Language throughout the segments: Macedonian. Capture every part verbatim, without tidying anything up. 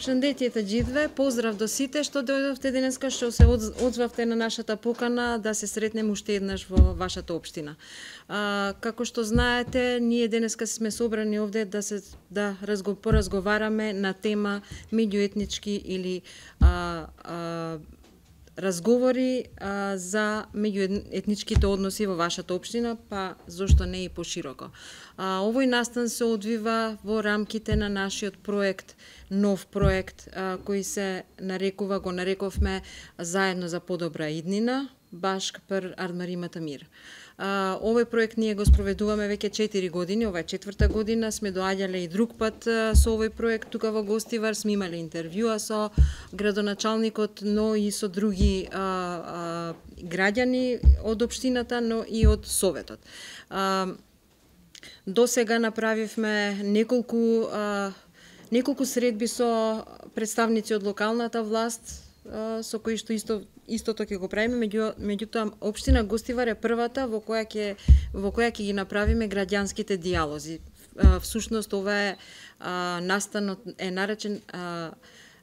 Прашандетијата Џидве, поздрав до сите што дојдовте денеска, што се одзвавте на нашата покана да се сретнеме уште еднаш во вашата општина. А, како што знаете, ние денеска сме собрани овде да се да разго, поразговараме на тема меѓуетнички или а, а, разговори а, за меѓуетничките односи во вашата општина, па зошто не и пошироко. А, овој настан се одвива во рамките на нашиот проект, нов проект а, кој се нарекува, го нарековме Заедно за подобра иднина, баш пр Ардмаримата мир. А, овој проект ние го спроведуваме веќе четири години, ова е четврта година, сме доаѓале и друг пат а, со овој проект тука во Гостивар, сме имале интервјуа со градоначалникот, но и со други а, а, граѓани од општината, но и од Советот. А, до сега направивме неколку а, неколку средби со представници од локалната власт, со кои што исто истото ќе го правиме, меѓу меѓутоа општина Гостивар е првата во која ќе во која ќе ги направиме граѓанските дијалози. Всушност ова е а, настанот е наречен а,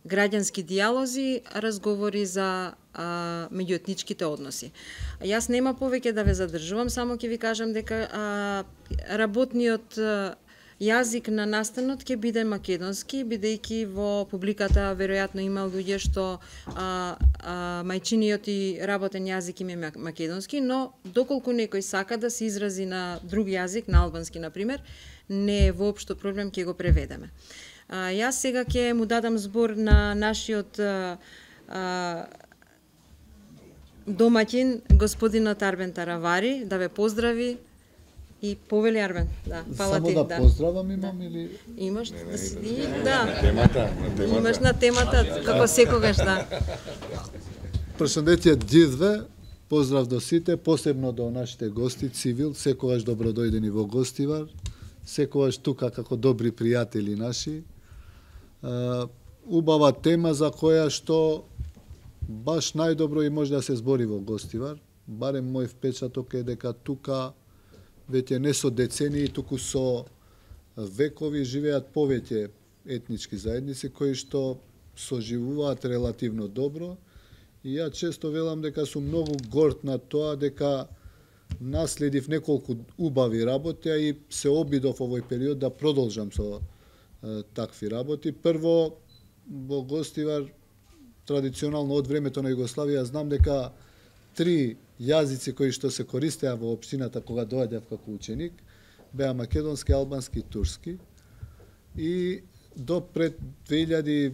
граѓански дијалози, разговори за а, меѓуетничките односи. Јас нема повеќе да ве задржувам, само ќе ви кажам дека а, работниот а, јазик на настанот ќе биде македонски, бидејќи во публиката веројатно има луѓе што а, а, мајчиниот и работен јазик им е македонски, но доколку некој сака да се изрази на друг јазик, на албански например, не е воопшто проблем, ќе го преведеме. А, јас сега ќе му дадам збор на нашиот а, а, домаќин, господинот Арбен Таравари, да ве поздрави. И повели Арбен, да, фала Само ти, да, да поздравам имам да. или Имаш не, не, да си не, ти, не, не, да. На темата, на темата. Имаш на темата како секогаш, да. Прашандетијат Џидве, поздрав до сите, посебно до нашите гости, цивил, секогаш добродојдени во Гостивар, секогаш тука како добри пријатели наши. Убава тема за која што баш најдобро и може да се збори во Гостивар. Барем мој впечаток е дека тука веќе не со децении, туку со векови живеат повеќе етнички заедници кои што соживуваат релативно добро. И ја често велам дека сум многу горд на тоа дека наследив неколку убави работи, а и се обидов овој период да продолжам со е, такви работи. Прво, во Гостивар, традиционално од времето на Југославија, знам дека три јазици кои што се користеа во општината кога доаѓав како ученик беа македонски, албански и турски. И до пред две илјади и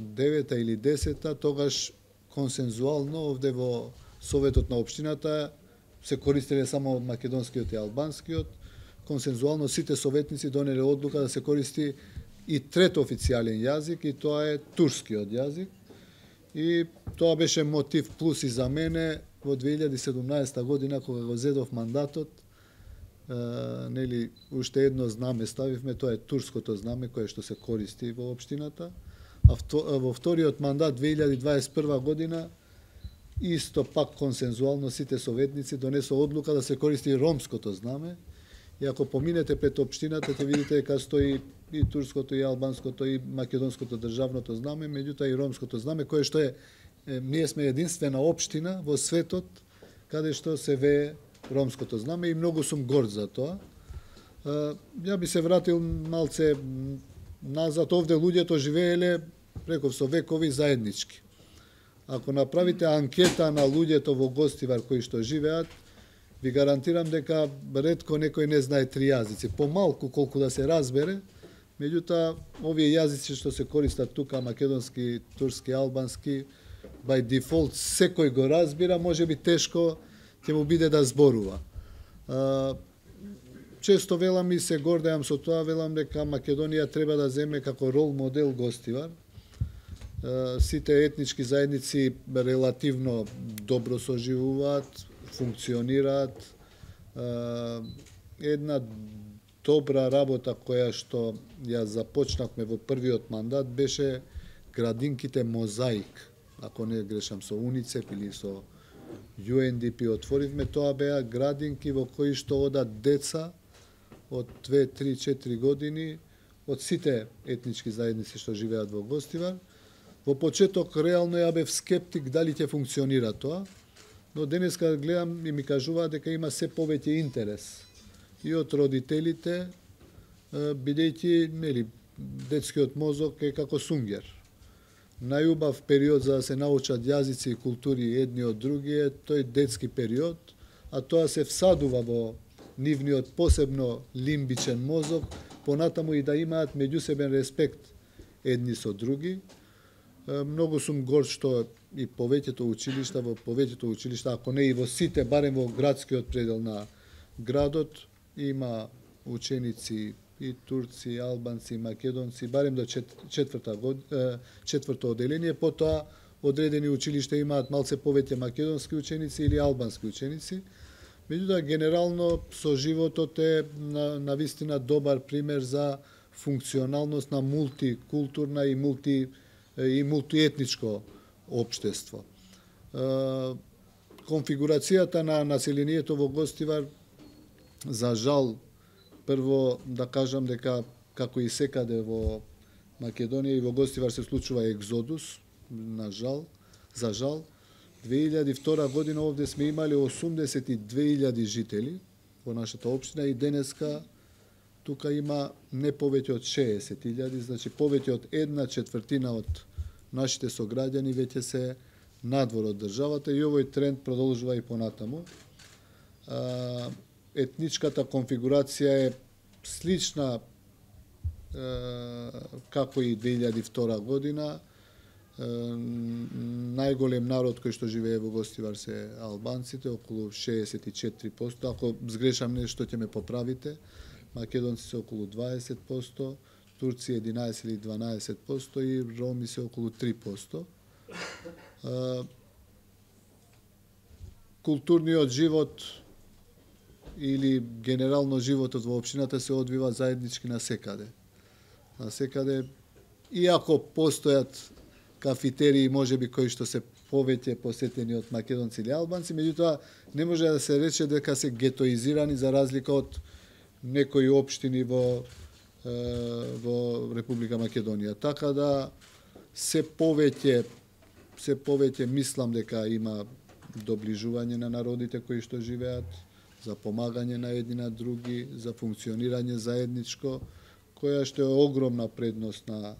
девета или десета тогаш консензуално овде во Советот на општината се користеле само македонскиот и албанскиот. Консензуално сите советници донеле одлука да се користи и трет официјален јазик, и тоа е турскиот јазик. И тоа беше мотив плюс и за мене во две илјади и седумнаесета година кога го зедов мандатот, е, нели уште едно знаме ставивме, тоа е турското знаме кое што се користи во општината. А во вториот мандат две илјади дваесет и прва година исто пак консензуално сите советници донесо одлука да се користи ромското знаме. И ако поминете пред општината ќе видите дека стои и турското, и албанското, и македонското државното знаме, меѓутоа и ромското знаме, кое што е, е ние сме единствена општина во светот каде што се вее ромското знаме и многу сум горд за тоа. Ја би се вратил малце назад, овде луѓето живееле реков со векови заеднички. Ако направите анкета на луѓето во Гостивар кои што живеат, ви гарантирам дека ретко некој не знае три јазици, помалку колку да се разбере. Меѓутоа, овие јазици што се користат тука, македонски, турски, албански, by default секој го разбира, може би тешко ќе му биде да зборува. Често велам и се гордеам со тоа, велам дека Македонија треба да земе како рол модел Гостивар. Сите етнички заедници релативно добро соживуваат, функционираат. Една добра работа која што ја започнавме во првиот мандат беше градинките Мозаик. Ако не грешам, со УНИЦЕФ или со Ю Ен Ди Пи отворивме, тоа беа градинки во кои што одат деца од две, три, четири години од сите етнички заедници што живеат во Гостивар. Во почеток реално ја бев скептик дали ќе функционира тоа, но денеска гледам и ми кажуваат дека има се повеќе интерес и од родителите, бидејќи нели детскиот мозок е како сунгер. Најубав период за да се научат јазици и култури едни од други е тој детски период, а тоа се всадува во нивниот посебно лимбичен мозок, понатаму и да имаат меѓусебен респект едни со други. Многу сум горд што и повеќето училишта, во повеќето училишта, ако не и во сите, барем во градскиот предел на градот, има ученици и турци, и албанци, и македонци, барем до четврта год, четврто оделение, потоа одредени училишта имаат малце повеќе македонски ученици или албански ученици. Меѓутоа, генерално, со животот е на, на вистина добар пример за функционалност на мултикултурна и мулти и мултиетничко општество. Конфигурацијата на населението во Гостивар, за жал, прво да кажам дека како и секаде во Македонија и во Гостивар се случува екзодус, на жал, за жал. две илјади и втора година овде сме имали осумдесет и две илјади жители во нашата општина и денеска тука има не повеќе од шеесет илјади, значи повеќе од една четвртина од нашите сограѓани веќе се надвор од државата и овој тренд продолжува и понатаму. Етничката конфигурација е слична како и две илјади и втора година. Најголем народ кој што живее во Гостивар се албанците, околу шеесет и четири проценти. Ако сгрешам нешто ќе ме поправите. Македонци се околу дваесет проценти, турци единаесет или дванаесет проценти и роми се околу три проценти. Културниот живот или генерално животот во општината се одвива заеднички на секаде. На секаде, иако постојат кафетерии можеби кои што се повеќе посетени од македонци или албанци, меѓутоа не може да се рече дека се гетоизирани за разлика од некои општини во во Република Македонија. Така да се повеќе се повеќе мислам дека има доближување на народите кои што живеат, за помагање на едни на други, за функционирање заедничко, која што е огромна предност на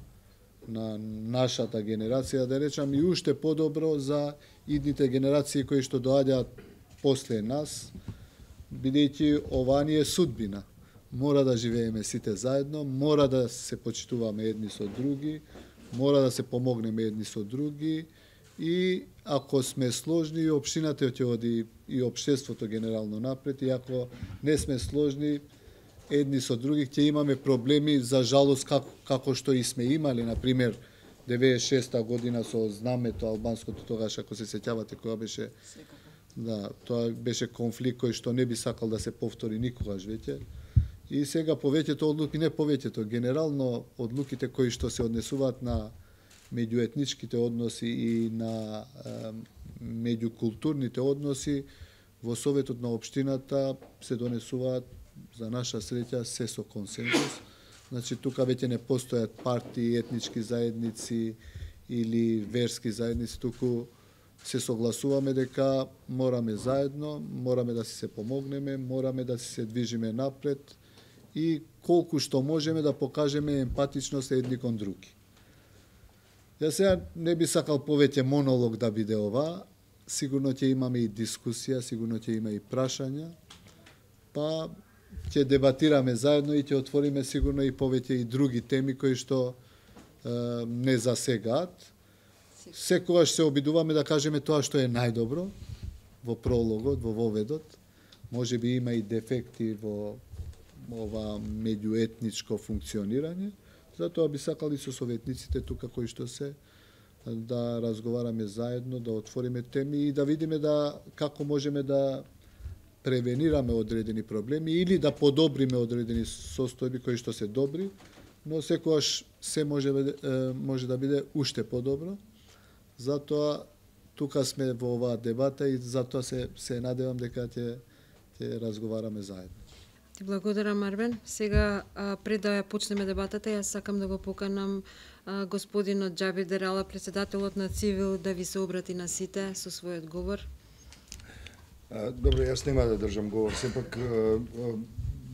на нашата генерација, да речам, и уште подобро за идните генерации кои што доаѓаат после нас, бидејќи ова ни е судбина. Мора да живееме сите заедно, мора да се почитуваме едни со други, мора да се помогнеме едни со други и ако сме сложни, и општината ќе оди и општеството генерално напред, и ако не сме сложни, едни со други ќе имаме проблеми, за жалост, како, како што и сме имали, например, деветдесет и шеста година со знамето албанското, тогаш, ако се сеќавате, која беше... Да, тоа беше конфликт кој што не би сакал да се повтори никогаш веќе. И сега повеќето одлуки, не повеќето, генерално одлуките кои што се однесуваат на меѓуетничките односи и на е, меѓукултурните односи, во Советот на општината се донесуваат за наша среќа се со консензус. Значи, тука веќе не постојат партии, етнички заедници или верски заедници, туку се согласуваме дека мораме заедно, мораме да си се помогнеме, мораме да си се движиме напред и колку што можеме да покажеме емпатичност едни кон други. Ја сега не би сакал повеќе монолог да биде ова, сигурно ќе имаме и дискусија, сигурно ќе има и прашања, па ќе дебатираме заедно и ќе отвориме сигурно и повеќе и други теми кои што е, не засегаат. Секогаш се обидуваме да кажеме тоа што е најдобро во прологот, во воведот. Може би има и дефекти во ова меѓуетничко функционирање. Затоа би сакали со советниците тука кои што се да разговараме заедно, да отвориме теми и да видиме да како можеме да превенираме одредени проблеми или да подобриме одредени состојби кои што се добри, но секогаш се може може да биде уште подобро. Затоа тука сме во оваа дебата и затоа се се надевам дека ќе ќе разговараме заедно. Ти благодарам, Арбен. Сега, а, пред да ја почнеме дебатата, јас сакам да го поканам а, господинот Џаби Дерала, председателот на Цивил, да ви се обрати на сите со својот говор. А, добро, јас нема да држам говор, сепак а, а,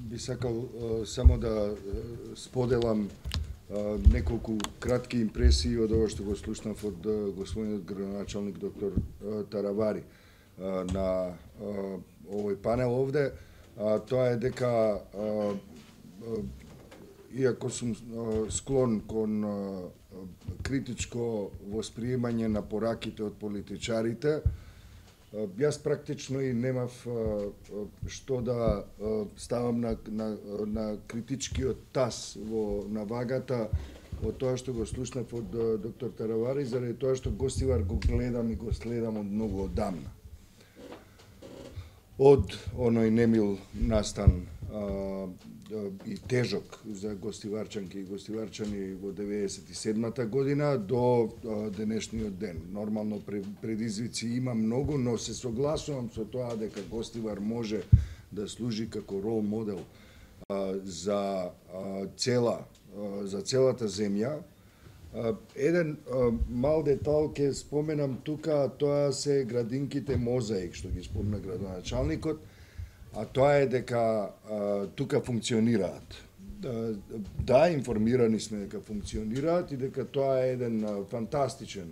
би сакал а, само да а, споделам а, неколку кратки импресии од ова што го слушнав од а, господинот градоначалник доктор а, Таравари а, на а, овој панел овде. А, тоа е дека а, а, иако сум а, склон кон а, критичко восприемање на пораките од политичарите, а, јас практично и немав а, а, што да а, ставам на, на, на критичкиот таз во навагата од тоа што го слушнав од а, доктор Таравари, заради тоа што Гостивар го гледам и го следам од многу одамна. Од оној немил настан а, а, и тежок за гостиварчанки и гостиварчани во деветдесет и седмата година до а, денешниот ден. Нормално предизвици има многу, но се согласувам со тоа дека Гостивар може да служи како рол модел а, за а, цела а, за целата земја. Uh, еден uh, мал детал ќе споменам тука, тоа се градинките Мозаик, што ги спомна градоначалникот, а тоа е дека uh, тука функционираат. Uh, да, информирани сме дека функционираат и дека тоа е еден uh, фантастичен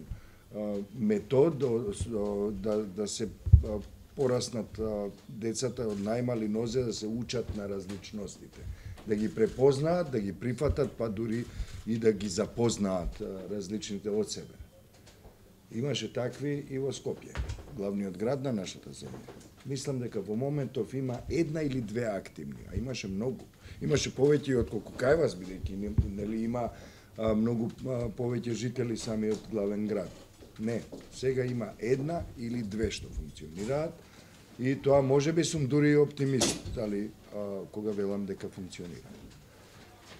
uh, метод uh, да, да се uh, пораснат uh, децата од најмали нозе, да се учат на различностите, да ги препознаат, да ги прифатат, па дури и да ги запознаат различните од себе. Имаше такви и во Скопје, главниот град на нашата земја. Мислам дека во моментов има една или две активни, а имаше многу. Имаше повеќе од колку кај вас, бидејќи нели има а, многу а, повеќе жители самиот главен град. Не, сега има една или две што функционираат и тоа можеби сум дури и оптимист, али а, кога велам дека функционира.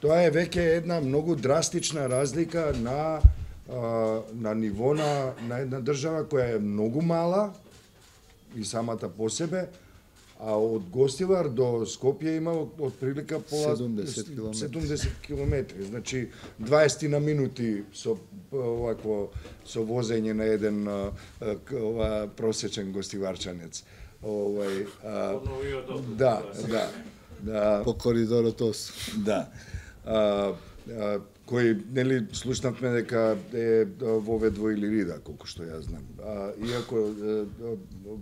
Тоа е веќе една многу драстична разлика на а, на ниво на, на една држава која е многу мала и самата по себе, а од Гостивар до Скопје има од прилика пола седумдесет километри. Значи дваесет на минути со овакво со возење на еден а, ова просечен гостиварчанец. Овај а, да, да, да, по коридорот ос. Да. А, а, кој нели слушнавме дека е воведво или рида, колку што ја знам. А, иако а,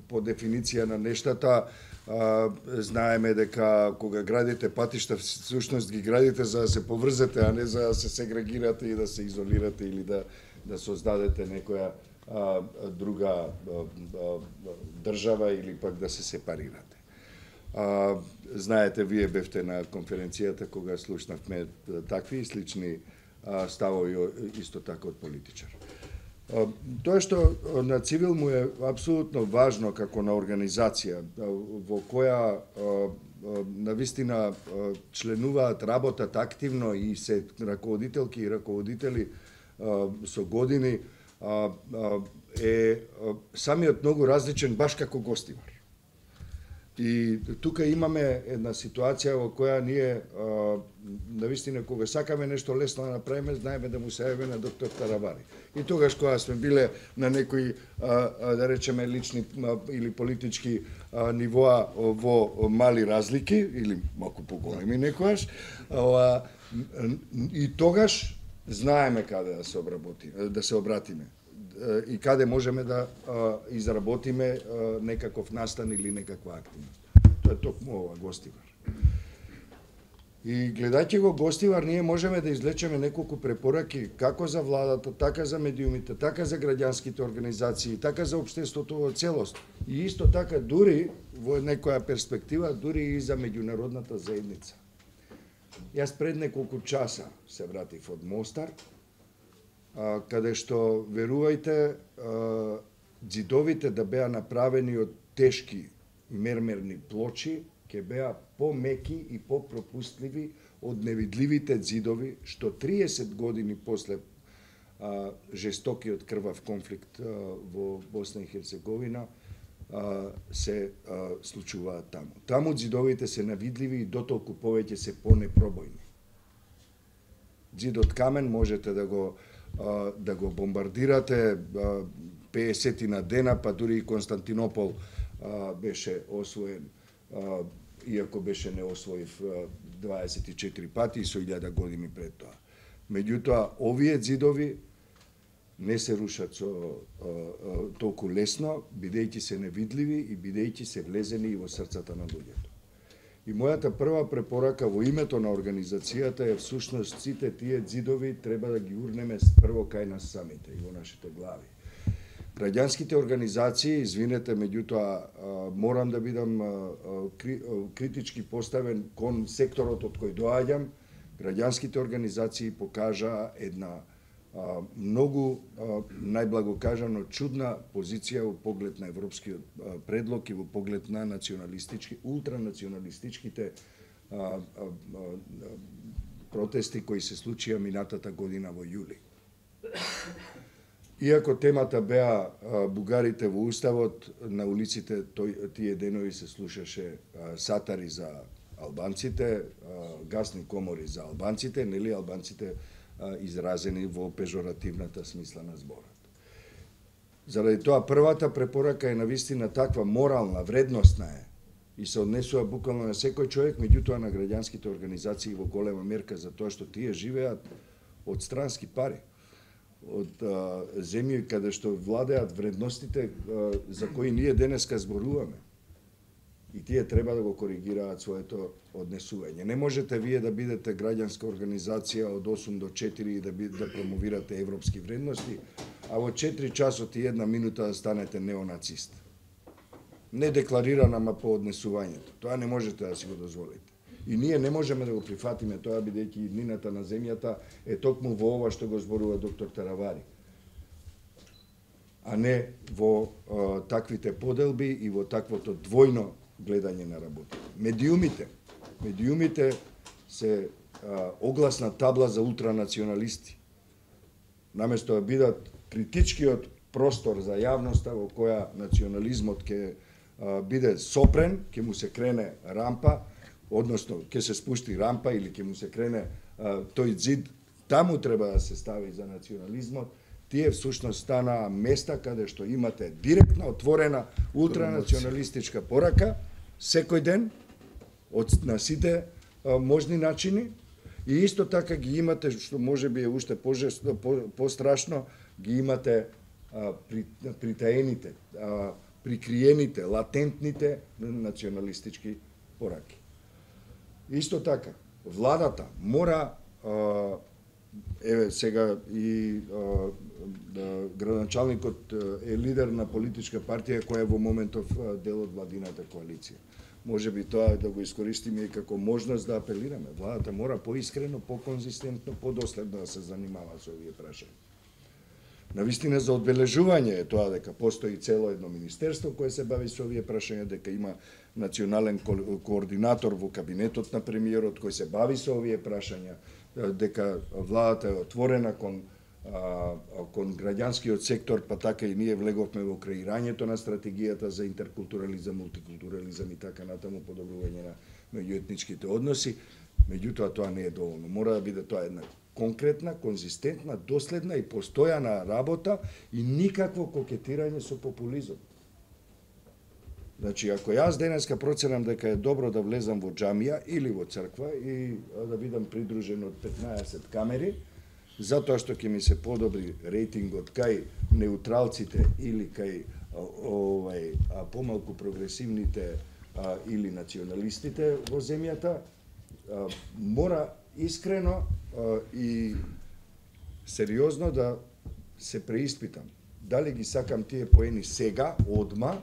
по дефиниција на нештата а, знаеме дека кога градите патишта, всушност ги градите за да се поврзете, а не за да се сегрегирате и да се изолирате или да да создадете некоја а, друга а, а, држава или пак да се сепарирате. А, знаете, вие бевте на конференцијата кога слушнавме такви и слични а, ставови исто така од политичар. А, тоа што на Цивил му е апсолутно важно како на организација во која а, навистина членуваат, работат активно и се раководителки и раководители а, со години, а, а, е а, самиот многу различен баш како Гостивар. И тука имаме една ситуација во која ние а, навистина кога сакаме нешто лесно да направиме, знаеме да му се јавиме на доктор Таравари. И тогаш кога сме биле на некои а, а, да речеме лични а, или политички а, нивоа во мали разлики или малку поголеми некојаш, а, и тогаш знаеме каде да се обработи, да се обратиме и каде можеме да а, изработиме а, некаков настан или некаква активност. Тоа е токму ова Гостивар. И гледајќи го Гостивар, ние можеме да извлечеме неколку препораки како за владата, така за медиумите, така за граѓанските организации, така за општеството во целост. И исто така дури во некоја перспектива, дури и за меѓународната заедница. Јас пред неколку часа се вратив од Мостар, каде што, верувајте, ѕидовите да беа направени од тешки мермерни плочи, ќе беа помеки и попропустливи од невидливите ѕидови, што триесет години после а, жестокиот крвав конфликт а, во Босна и Херцеговина се случуваат таму. Таму ѕидовите се навидливи и дотолку повеќе се понепробојни. Ѕид од камен можете да го да го бомбардирате пеесет на дена, па дури и Константинопол беше освоен, иако беше неосвоив дваесет и четири пати со илјада години пред тоа. Меѓутоа, овие ѕидови не се рушат со а, а, толку лесно, бидејќи се невидливи и бидејќи се влезени и во срцата на луѓето. И мојата прва препорака во името на организацијата е всушност сите тие ѕидови треба да ги урнеме прво кај нас самите и во нашите глави. Граѓанските организации, извинете, меѓутоа морам да бидам кри, критички поставен кон секторот од кој доаѓам. Граѓанските организации покажаа една а, многу, а, најблаго кажано, чудна позиција во поглед на европскиот а, предлог и во поглед на националистички, ултранационалистичките а, а, а, протести кои се случија минатата година во јули. Иако темата беа а, бугарите во уставот, на улиците тој, тие денови се слушаше а, сатари за албанците, гасни комори за албанците, нели албанците изразени во пежоративната смисла на зборот. Заради тоа првата препорака е навистина таква морална, вредностна е и се однесува буквално на секој човек, меѓутоа на граѓанските организации во голема мерка за тоа што тие живеат од странски пари, од а, земји каде што владеат вредностите а, за кои ние денеска зборуваме. И тие треба да го коригираат своето однесување. Не можете вие да бидете граѓанска организација од осум до четири и да, би, да промовирате европски вредности, а во четири часот и една минута да станете неонацист. Не декларирана, ама по однесувањето. Тоа не можете да си го дозволите. И ние не можеме да го прифатиме тоа, бидејќи иднината на земјата е токму во ова што го зборува доктор Таравари, а не во а, таквите поделби и во таквото двојно гледање на работа. Медиумите, медиумите се а, огласна табла за ултранационалисти. Наместо да бидат критичкиот простор за јавноста во која национализмот ќе а, биде сопрен, ќе му се крене рампа, односно ќе се спушти рампа или ќе му се крене а, тој ѕид, таму треба да се стави за национализмот. Тие всушност станаа места каде што имате директна, отворена, ултранационалистичка порака, секој ден, од, на сите а, можни начини, и исто така ги имате, што може би е уште пожесно, по, пострашно, ги имате а, при, притаените, а, прикриените, латентните националистички пораки. Исто така, владата мора а, еве сега и а, да, градоначалникот е лидер на политичка партија која е во моментов дел од владината коалиција. Може би тоа да го искористиме и како можност да апелираме. Владата мора поискрено, поконзистентно, подоследно да се занимава со овие прашања. Навистина за одбележување е тоа дека постои цело едно министерство кое се бави со овие прашања, дека има национален ко координатор во кабинетот на премиерот кој се бави со овие прашања, дека владата е отворена кон, а, кон граѓанскиот сектор, па така и ние влеговме во креирањето на стратегијата за интеркултурализам, мултикултурализам и така натаму, подобрување на меѓуетничките односи. Меѓутоа тоа не е доволно. Мора да биде тоа една конкретна, конзистентна, доследна и постојана работа и никакво кокетирање со популизм. Значи, ако јас денеска проценам дека е добро да влезам во џамија или во црква и да бидам придружен од петнаесет камери, затоа што ќе ми се подобри рейтингот кај неутралците или кај овај помалку прогресивните а, или националистите во земјата, а, мора искрено а, и сериозно да се преиспитам дали ги сакам тие поени сега, одма,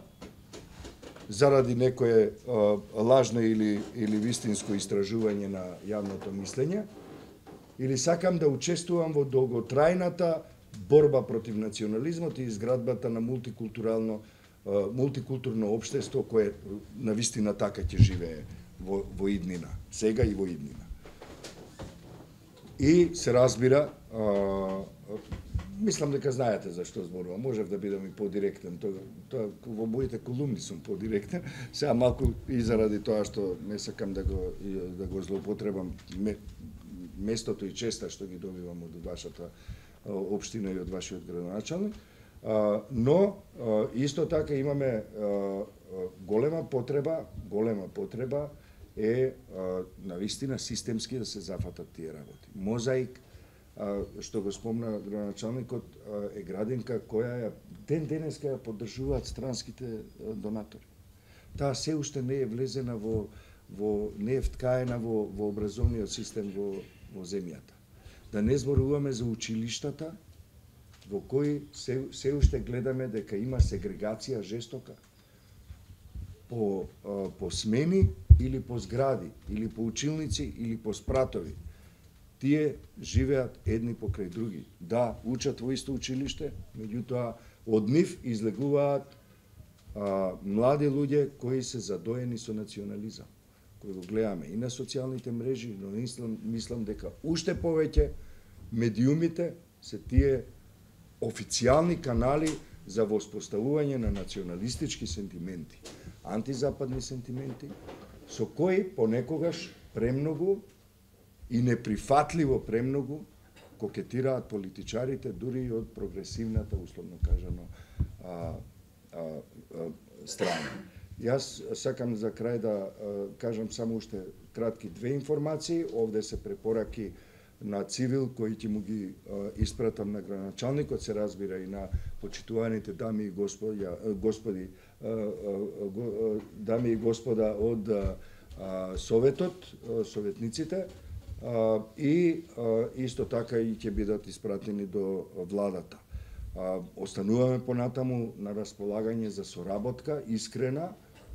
заради некое а, лажно или, или вистинско истражување на јавното мислење, или сакам да учествувам во долготрајната борба против национализмот и изградбата на мултикултурално, а, мултикултурно општество кое навистина така ќе живее во, во иднина, сега и во иднина. И се разбира, а, мислам дека знаете за што зборувам. Можев да бидам и подиректен. Тоа, тоа во моите колумни сум подиректен. Сега малку и заради тоа што не сакам да го да го злоупотребам местото и честа што ги добивам од вашата општина и од вашиот градоначалник. Но исто така имаме голема потреба, голема потреба е навистина системски да се зафатат тие работи. Мозаик, што го спомна градоначалникот, е градинка која ја ден денеска ја поддржуваат странските донатори. Таа се уште не е влезена во во не е вткаена во во образовниот систем во во земјата. Да не зборуваме за училиштата во кои се се уште гледаме дека има сегрегација жестока по по смени или по згради или по училници или по спратови. Тие живеат едни покрај други. Да, учат во исто училиште, меѓутоа од нив излегуваат а, млади луѓе кои се задоени со национализам, кои го гледаме и на социјалните мрежи, но мислам, мислам дека уште повеќе медиумите се тие официјални канали за воспоставување на националистички сентименти, антизападни сентименти, со кои понекогаш премногу и неприфатливо премногу кокетираат политичарите, дури и од прогресивната, условно кажано, а, а, а, страна. Јас сакам за крај да а, кажам само уште кратки две информации. Овде се препораки на цивил кои ќе му ги а, испратам на градоначалникот, се разбира и на почитуваните дами и господи, господи а, а, го, дами и господа од а, Советот, советниците, Uh, и uh, исто така и ќе бидат испратени до владата. Uh, остануваме понатаму на располагање за соработка, искрена,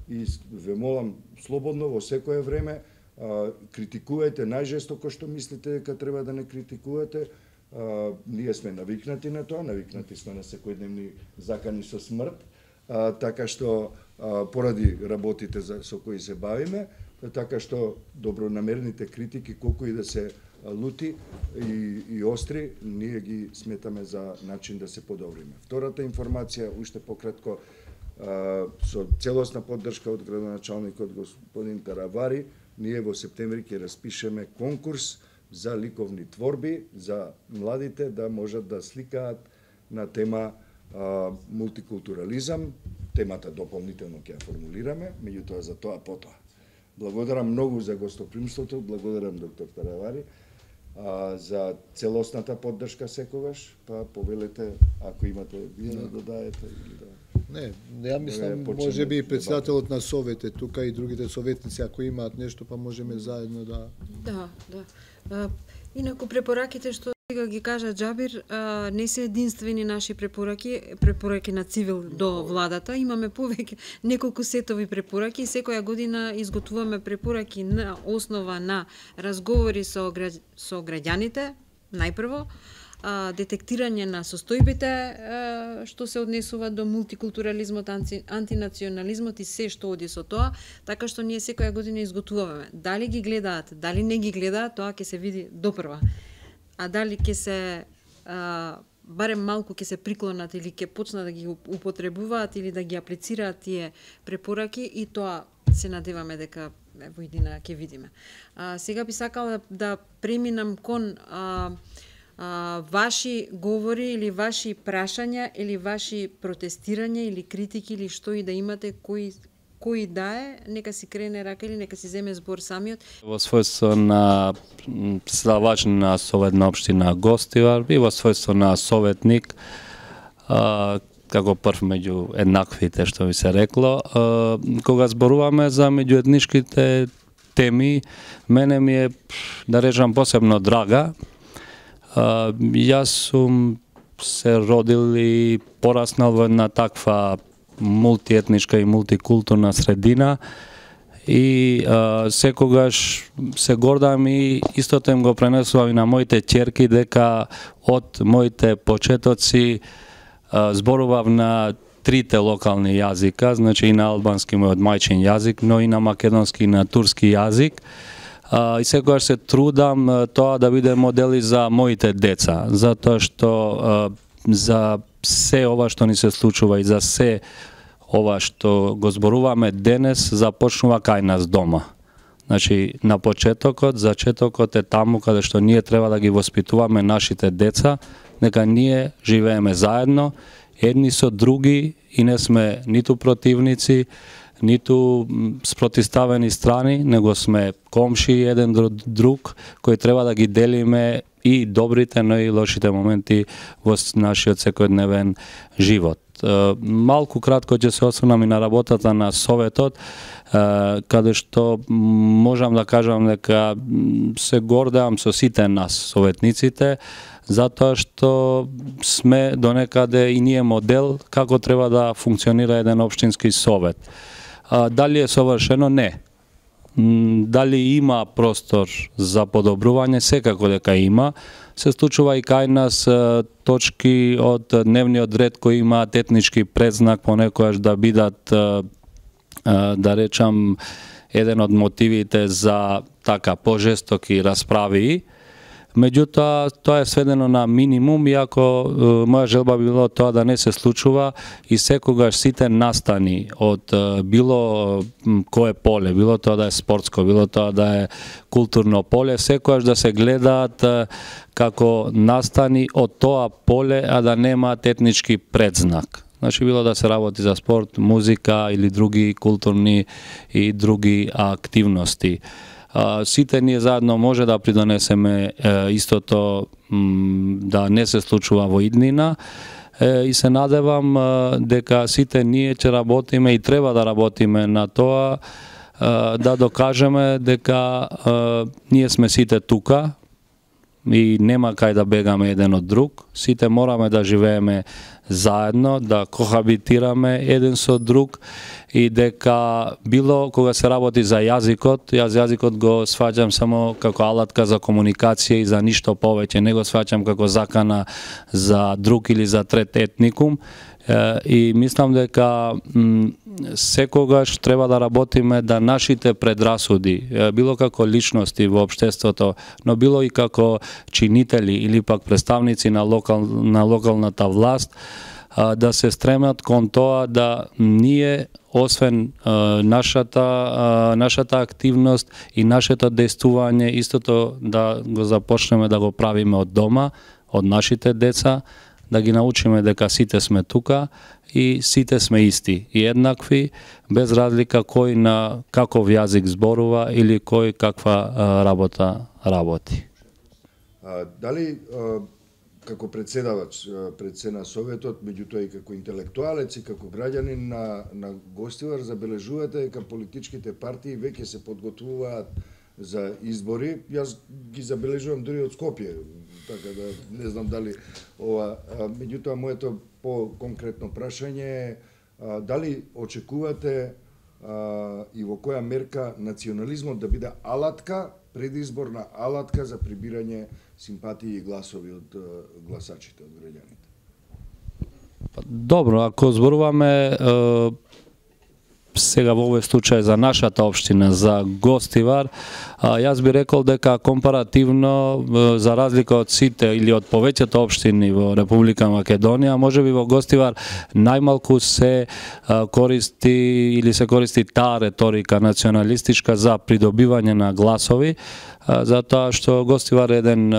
и ве молам слободно во секое време, uh, критикувајте најжестоко што мислите дека треба да не критикувате. Uh, ние сме навикнати на тоа, навикнати сме на секојдневни закани со смрт, uh, така што uh, поради работите за, со кои се бавиме, така што добронамерните критики, колку и да се лути и, и остри, ние ги сметаме за начин да се подобриме. Втората информација, уште пократко, со целосна поддршка од градоначалникот господин Таравари, ние во септември ќе распишеме конкурс за ликовни творби, за младите да можат да сликаат на тема а, мултикултурализам. Темата дополнително ќе ја формулираме, меѓутоа за тоа потоа. Благодарам многу за гостопримството, благодарам доктор Таравари а, за целосната поддршка секогаш, па повелете ако имате вие да додаете или да. Не, ја мислам може би председателот на совете тука и другите советници ако имаат нешто па можеме заедно да. Да, да. А, инаку препораките што сега ги кажа Џабир, а, не се единствени наши препораки, препораки на цивил до владата. Имаме повеќе неколку сетови препораки и секоја година изготвуваме препораки на основа на разговори со граѓ... со граѓаните, најпрво, а, детектирање на состојбите а, што се однесува до мултикултурализмот, анти... антинационализмот и се што оди со тоа, така што ние секоја година изготвуваме. Дали ги гледаат, дали не ги гледаат, тоа ќе се види допрва. А дали ќе се а, барем малку ќе се приклонат или ќе почнат да ги употребуваат или да ги аплицираат тие препораки, и тоа се надеваме дека во иднина ќе видиме. А, сега би сакала да преминам кон а, а, ваши говори или ваши прашања или ваши протестирања или критики или што и да имате, кои кој да е, нека си крене рака или нека си земе збор самиот. Во својство на председавач на Советна општина Гостивар и во својство на советник, а, како прв меѓу еднаквите, што ви се рекло, а, кога зборуваме за меѓуетничките теми, мене ми е, да речам, посебно драга. А, јас сум се родил и пораснал во една таква мултиетничка и мултикултурна средина и а, секогаш се гордам и истото им го пренесувам и на моите ќерки дека од моите почетоци а, зборував на трите локални јазика, значи и на албански мојот мајчин јазик, но и на македонски и на турски јазик. А, и секогаш се трудам а, тоа да биде модели за моите деца, затоа што а, за се ова што ни се случува и за се ова што го зборуваме денес започнува кај нас дома. Значи, на почетокот, зачетокот е таму каде што ние треба да ги воспитуваме нашите деца, нека ние живееме заедно, едни со други и не сме ниту противници, ниту спротивставени страни, него сме комши еден до друг, кои треба да ги делиме и добрите, но и лошите моменти во нашиот секојдневен живот. Малку кратко ќе се осврнам и на работата на Советот, каде што можам да кажам дека се гордеам со сите нас, советниците, затоа што сме донекаде и ние модел како треба да функционира еден општински совет. Дали е совршено? Не. Дали има простор за подобрување? Секако дека има. Се случува и кај нас точки од дневниот ред кои имаат етнички предзнак понекогаш да бидат, да речам, еден од мотивите за така пожестоки расправи. Меѓутоа, тоа е сведено на минимум, иако моја желба би било тоа да не се случува и секогаш сите настани од било кое поле, било тоа да е спортско, било тоа да е културно поле, секогаш да се гледаат како настани од тоа поле, а да немаат етнички предзнак. Значи, било да се работи за спорт, музика или други културни и други активности. Сите ние заедно може да придонесеме истото да не се случува во иднина и се надевам дека сите ние ќе работиме и треба да работиме на тоа да докажеме дека ние сме сите тука и нема кај да бегаме еден од друг. Сите мораме да живееме заедно, да кохабитираме еден со друг и дека било кога се работи за јазикот, јас јазикот го сваќам само како алатка за комуникација и за ништо повеќе, не го сваќам како закана за друг или за трет етникум. И мислам дека секогаш треба да работиме да нашите предрасуди, било како личности во општеството, но било и како чинители или пак представници на, локал, на локалната власт, да се стремат кон тоа да ние, освен нашата, нашата активност и нашето действување, истото да го започнеме да го правиме од дома, од нашите деца, да ги научиме дека сите сме тука и сите сме исти и еднакви, без разлика кој на каков јазик зборува или кој каква работа работи. А, дали а, како председавач пред на Советот, меѓутоа и како интелектуалец и како граѓанин на, на Гостивар, забележувате дека политичките партии веќе се подготвуваат за избори. Јас ги забележувам дури од Скопје, така да не знам дали ова, меѓутоа моето по-конкретно прашање е дали очекувате а, и во која мерка национализмот да биде алатка, предизборна алатка за прибирање симпатии и гласови од гласачите, од граѓаните? Добро, ако зборуваме сега во овој случај за нашата општина, за Гостивар, јас би рекол дека компаративно, за разлика од сите или од повеќето општини во Република Македонија, можеби во Гостивар најмалку се користи или се користи таа реторика националистичка за придобивање на гласови, затоа што Гостивар е еден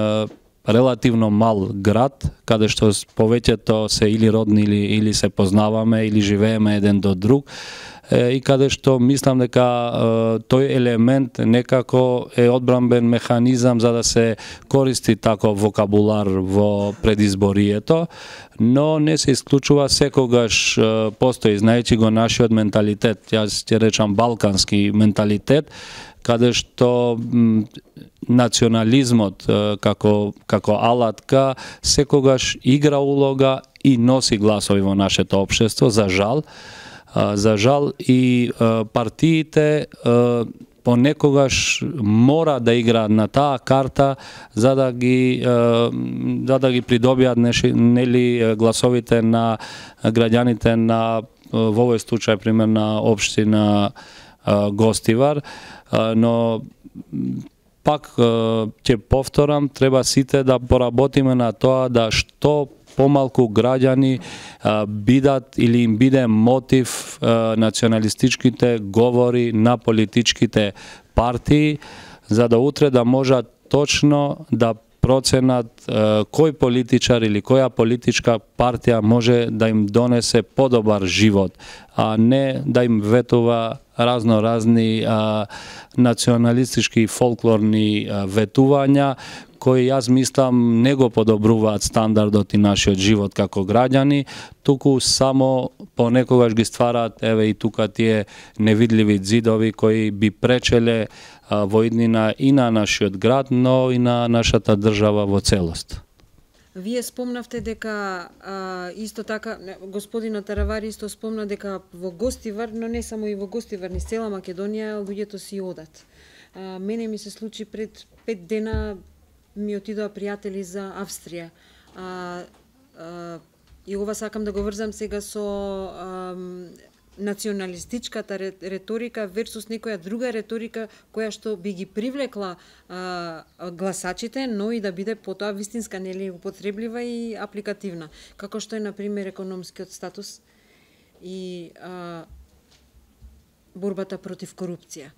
релативно мал град, каде што повеќето се или родни или, или се познаваме или живееме еден до друг, и каде што мислам дека тој елемент некако е одбранбен механизам за да се користи таков вокабулар во предизборието, но не се исклучува секогаш постои, знаејќи го нашиот менталитет, јас ќе речам балкански менталитет, каде што национализмот како, како алатка секогаш игра улога и носи гласови во нашето општество, за жал. За жал и партиите понекогаш мора да играат на таа карта за да ги за да ги придобијат нели гласовите на граѓаните на во овој случај пример на општина Гостивар, но пак ќе повторам, треба сите да поработиме на тоа да што помалку граѓани бидат или им биде мотив националистичките говори на политичките партии, за да утре да можат точно да проценат кој политичар или која политичка партија може да им донесе подобар живот, а не да им ветува разно разни а, националистички и фолклорни а, ветувања кои јас мислам не го подобруваат стандардот и нашиот живот како граѓани, туку само понекогаш ги ствараат еве и тука тие невидливи зидови кои би пречеле а, во иднина и на нашиот град, но и на нашата држава во целост. Вие спомнавте дека а, исто така господинот Таравари исто спомна дека во Гостивар, но не само и во Гостивар, низ цела Македонија луѓето си одат. А, мене ми се случи пред пет дена ми отидоа пријатели за Австрија. А, а, и ова сакам да го врзам сега со а, националистичката реторика версус некоја друга реторика која што би ги привлекла а, гласачите, но и да биде потоа вистинска, нели, употреблива и апликативна, како што е на пример економскиот статус и а, борбата против корупција.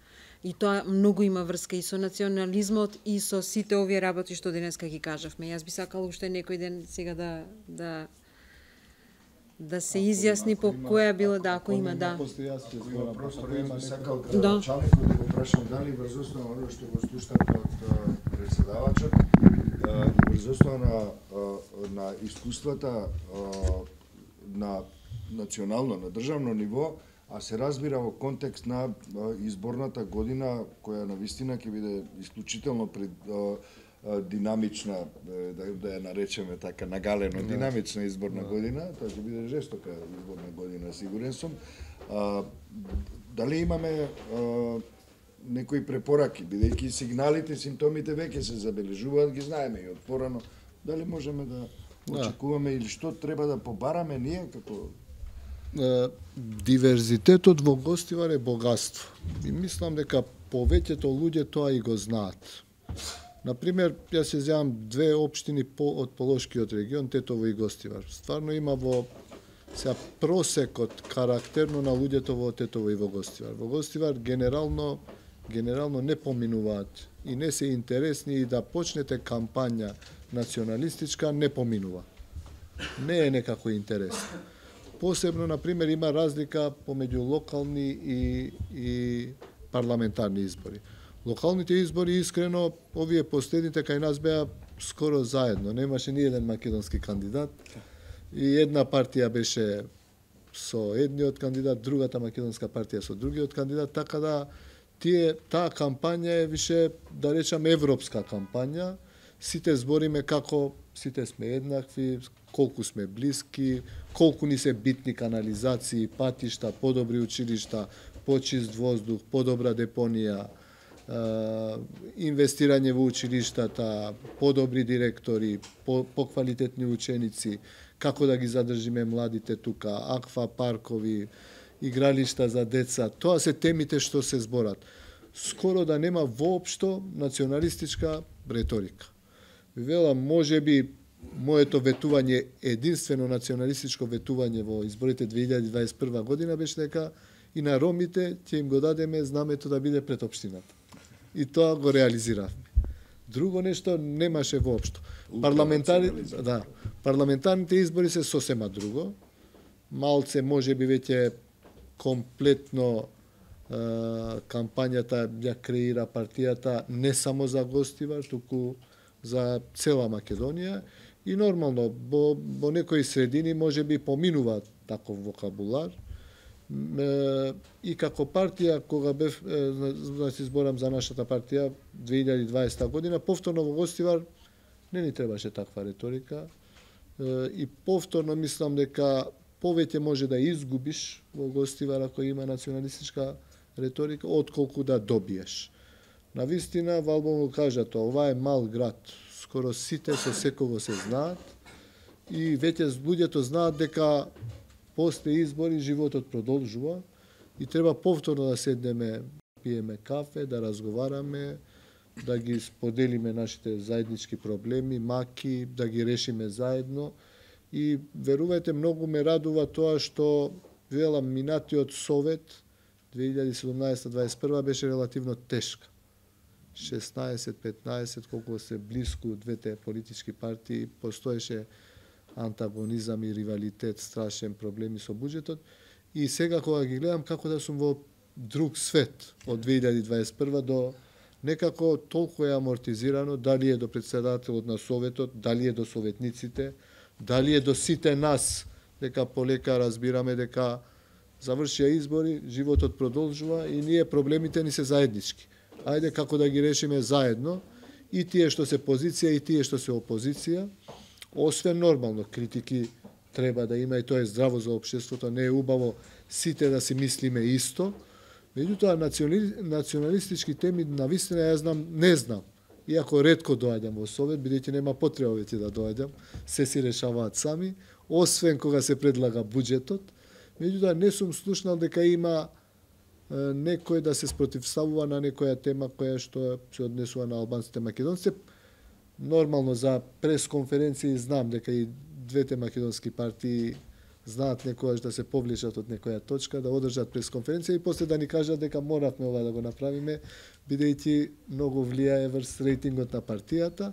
И тоа многу има врска и со национализмот и со сите овие работи што денеска ги кажавме. Јас би сакала уште некој ден сега да да да се изјасни по која било, да, ако има, да. Просто би сакал Да. началникот да го прашам дали врз основа на оно што го слушнавте од председавачот и врз основа на на искуствата на национално, на државно ниво, а се разбира во контекст на изборната година која навистина ќе биде исклучително пред динамична, да, да ја наречеме така, нагалено динамична изборна да. година, тоа ќе биде жестока изборна година, сигурен сум. А, дали имаме а, некои препораки, бидејќи сигналите, симптомите веќе се забележуваат, ги знаеме и од порано, дали можеме да очекуваме да. или што треба да побараме ние како диверзитетот во Гостивар е богатство. И мислам дека повеќето луѓе тоа и го знаат. Например, јас се зеам две општини по, од Полошкиот регион, Тетово и Гостивар. Стварно има во сега просекот карактерно на луѓето во Тетово и во Гостивар. Во Гостивар генерално генерално не поминуваат и не се интересни и да почнете кампања националистичка не поминува. Не е некако интересно. Посебно, например, има разлика помеѓу локални и, и парламентарни избори. Локалните избори, искрено, овие последните кај нас беа скоро заедно. Немаше ни еден македонски кандидат. И една партија беше со едниот кандидат, другата македонска партија со другиот кандидат, така да тие, таа кампања е више, да речам, европска кампања. Сите збориме како сите сме еднакви, колку сме блиски, колку ни се битни канализации, патишта, подобри училишта, почист воздух, подобра депонија, инвестирање во училиштата, подобри директори, по, поквалитетни ученици, како да ги задржиме младите тука, аква паркови, игралишта за деца. Тоа се темите што се зборат. Скоро да нема воопшто националистичка реторика. Велам, може би моето ветување, единствено националистичко ветување во изборите две илјади дваесет и прва година беше дека и на ромите ќе им го дадеме знамето да биде пред општината. И тоа го реализиравме. Друго нешто немаше воопшто. Парламентари, да, парламентарните избори се сосема друго. Малце може би веќе комплетно е, кампањата ја креира партијата не само за Гостивар, туку за цела Македонија. И нормално, во, во некои средини може би поминува таков вокабулар. И како партија, кога бев, значи зборам за нашата партија, две илјади и дваесета година, повторно во Гостивар не ни требаше таква реторика. И повторно мислам дека повеќе може да изгубиш во Гостивар ако има националистичка реторика, отколку да добиеш. Навистина, Валбон го кажа тоа, ова е мал град, скоро сите со секого се знаат и веќе луѓето знаат дека после избори животот продолжува и треба повторно да седнеме, пиеме кафе, да разговараме, да ги споделиме нашите заеднички проблеми, маки, да ги решиме заедно И верувајте, многу ме радува тоа што велам минатиот совет две илјади и седумнаесета дваесет и прва беше релативно тешка. шеснаесет петнаесет, колку се блиску двете политички партии, постоеше антагонизам и ривалитет, страшен проблеми со буџетот. И сега кога ги гледам како да сум во друг свет од две илјади дваесет и прва до некако толку е амортизирано, дали е до председателот на Советот, дали е до советниците, дали е до сите нас, дека полека разбираме дека завршија избори, животот продолжува и ние проблемите ни се заеднички. Ајде како да ги решиме заедно, и тие што се позиција и тие што се опозиција, освен нормално критики треба да има и тоа е здраво за општеството, не е убаво сите да си мислиме исто. Меѓутоа, национали... националистички теми, навистина, ја знам, не знам. Иако ретко доаѓам во Совет, бидејќи нема потреба веќе да доаѓам, се си решаваат сами, освен кога се предлага буџетот. Меѓутоа, не сум слушнал дека има е, некој да се спротивставува на некоја тема која што се однесува на албанците македонците. Нормално за пресконференции знам дека и двете македонски партии знаат некојаш да се повлечат од некоја точка, да одржат пресконференција и после да ни кажат дека моравме ова да го направиме, бидејќи многу влијае врз рейтингот на партијата,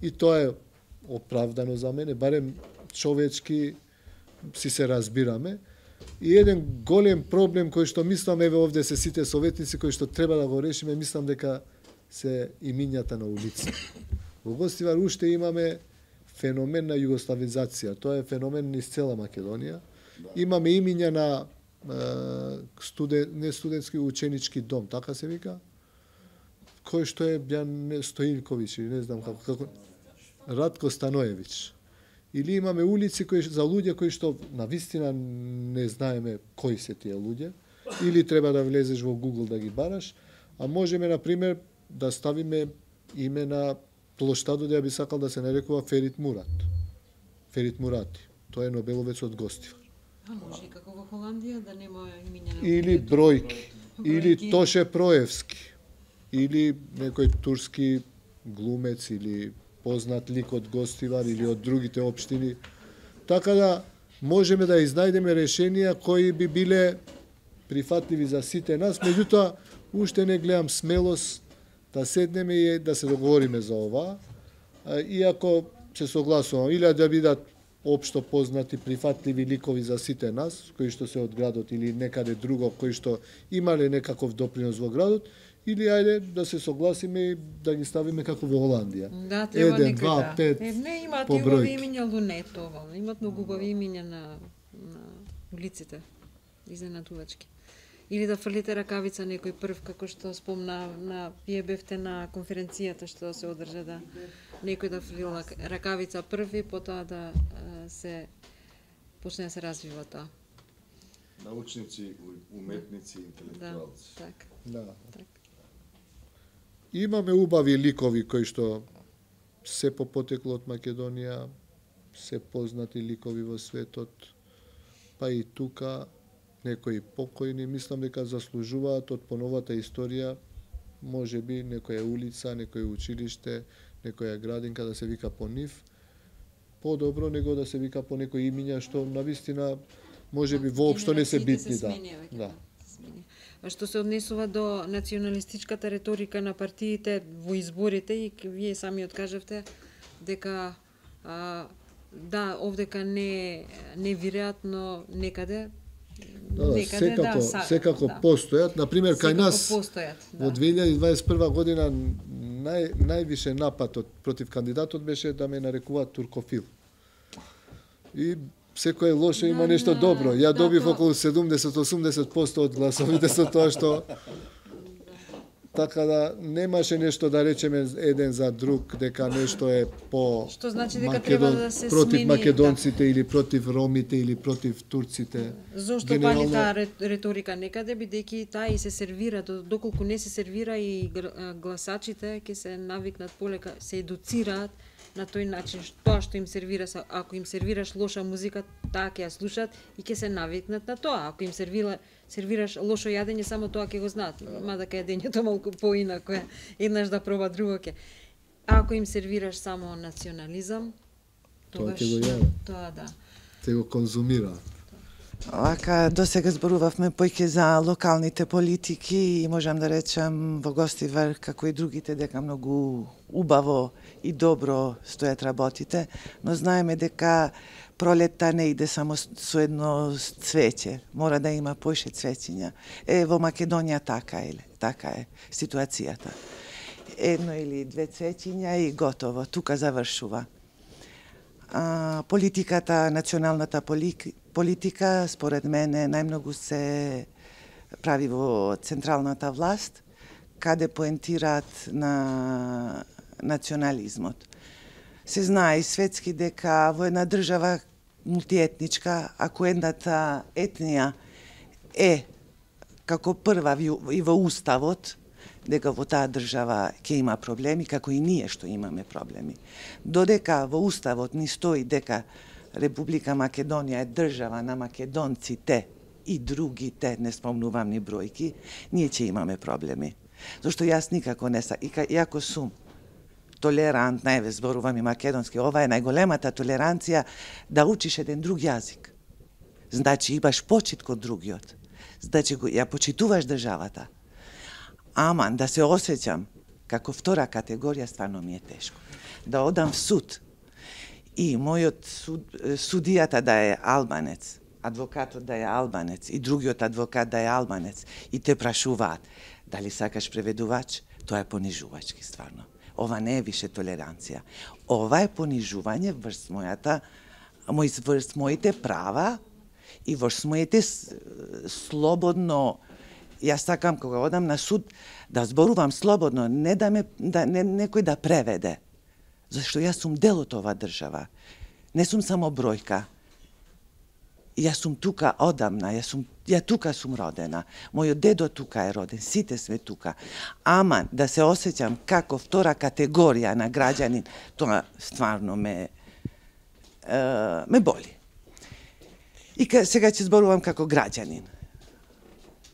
и тоа е оправдано за мене, барем човечки си се разбираме. И еден голем проблем кој што мислам, еве овде се сите советници кои што треба да го решиме, мислам дека се имињата на улица. Во Гостивар уште имаме феномен на југославизација. Тоа е феномен низ цела Македонија. Имаме имиња на е, студен, не студентски ученички дом, така се вика, кој што е Бјан Стоилковиќ, или не знам како, како Радко Станоевиќ. Или имаме улици кои за луѓе кои што на вистина не знаеме кои се тие луѓе, или треба да влезеш во Google да ги бараш, а можеме на пример да ставиме име на плоштадот, ја би сакал да се нарекува Ферит Мурат. Ферит Мурати. Тоа е Нобеловец од Гостивар. А може и како во Холандија да нема имиња на Или Бројки, или Тоше Проевски, или некој турски глумец или познат лик од Гостивар или од другите општини. Така да можеме да изнајдеме решенија кои би биле прифатливи за сите нас, меѓутоа уште не гледам смелост да седнеме и да се договориме за ова, иако се согласувам, или да бидат општо познати прифатливи ликови за сите нас, кои што се од градот или некаде друго, кои што имале некаков допринос во градот, или ајде да се согласиме и да ги ставиме како во Холандија. Да, треба Еден, некој два, да. пет, Е, не имаат по и убави бројки. имиња Лунетова, имаат многу убави имиња на, на улиците, изненадувачки. Или да фрлите ракавица некој прв, како што спомна, на вие бевте на конференцијата што се одржа, да некој да фрлила ракавица први, потоа да а, се почне да се развива тоа. Научници, уметници, Да, интелектуалци. така. Да. Так. Имаме убави ликови кои што се по потекло од Македонија, се познати ликови во светот, па и тука некои покојни, мислам дека заслужуваат од поновата историја, може би некоја улица, некој училиште, некоја градинка да се вика по нив, подобро него да се вика по некои имиња што навистина може би воопшто не се битни, да. Да. А што се однесува до националистичката реторика на партиите во изборите, и вие сами откажавте дека а, да, овдека не не веројатно некаде Да, да, некаде секако, да, са, секако да. постојат. Например, кај Секако нас постојат, да. во две илјади дваесет и прва година нај, највише напад од, против кандидатот беше да ме нарекуваат туркофил. И секој лошо има Да, нешто да, добро. Ја да, добив тоа- околу седумдесет до осумдесет посто од гласовите со тоа што така да немаше нешто да речеме еден за друг дека нешто е по Што значи дека треба да се против смени, македонците или против ромите или против турците. Зошто пали таа рет- реторика некаде, бидејќи таа и се сервира, до- доколку не се сервира и гр- а, гласачите ќе се навикнат полека, се едуцираат на тој начин, што- тоа што им сервира, са- ако им сервираш лоша музика, таа ќе ја слушаат и ќе се навикнат на тоа. Ако им сервира, сервираш лошо јадење, само тоа ќе го знаат, мада ке јадењето малку поинако е, еднаш да проба друго ќе. А ако им сервираш само национализам, Тоа ќе го јадат. Тоа да. Те го конзумираат. Вака, до сега зборувавме поќе за локалните политики и можам да речам во Гостивар, како и другите, дека многу убаво и добро стојат работите, но знаеме дека пролетта не иде само со едно цвеќе, мора да има поише цвеќиња. Е, во Македонија така е, така е ситуацијата. Едно или две цвеќиња и готово, тука завршува. А, политиката, националната политика, според мене, најмногу се прави во централната власт, каде поентираат на национализмот. Се знае и светски дека во една држава мултиетничка, ако едната етнија е како прва и во уставот, дека во таа држава ќе има проблеми, како и ние што имаме проблеми. Додека во уставот ни стои дека Република Македонија е држава на македонците и другите, не спомнувам ни бројки, ние ќе имаме проблеми. Зашто јас никако не са, иако сум толерантна, еве зборувам и македонски, ова е најголемата толеранција да учиш еден друг јазик. Значи имаш почит код другиот. Значи ја почитуваш државата. Аман, да се осеќам како втора категорија, стварно ми е тешко. Да одам в суд и мојот суд, судијата да е албанец, адвокатот да е албанец и другиот адвокат да е албанец и те прашуваат дали сакаш преведувач, тоа е понижувачки стварно. Ова не е више толеранција. Ова е понижување врз мојата, врз моите права и врз моите слободно. Јас сакам кога одам на суд да зборувам слободно, не да ме да не, некој да преведе. Зашто јас сум дел од оваа држава. Не сум само бројка. Јас сум тука одамна, јас сум ја тука сум родена. Мојот дедо тука е роден, сите сме тука. Ама да се осеќам како втора категорија на граѓанин, тоа стварно ме е, ме боли. И сега ќе зборувам како граѓанин.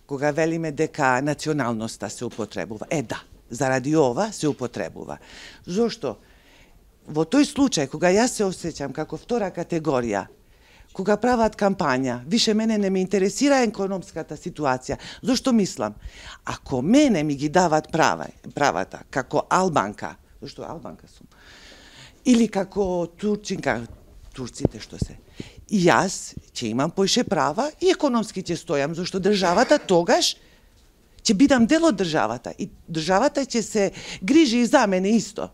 Кога велиме дека националноста се употребува. Е, да, заради ова се употребува. Зошто? Во тој случај, кога јас се осеќам како втора категорија, кога прават кампања, више мене не ме интересира економската ситуација. Зошто мислам? Ако мене ми ги дават права, правата, како албанка, зашто албанка сум, или како турчинка, турците што се, и јас ќе имам поише права и економски ќе стојам, зашто државата тогаш ќе бидам дел од државата и државата ќе се грижи и за мене исто.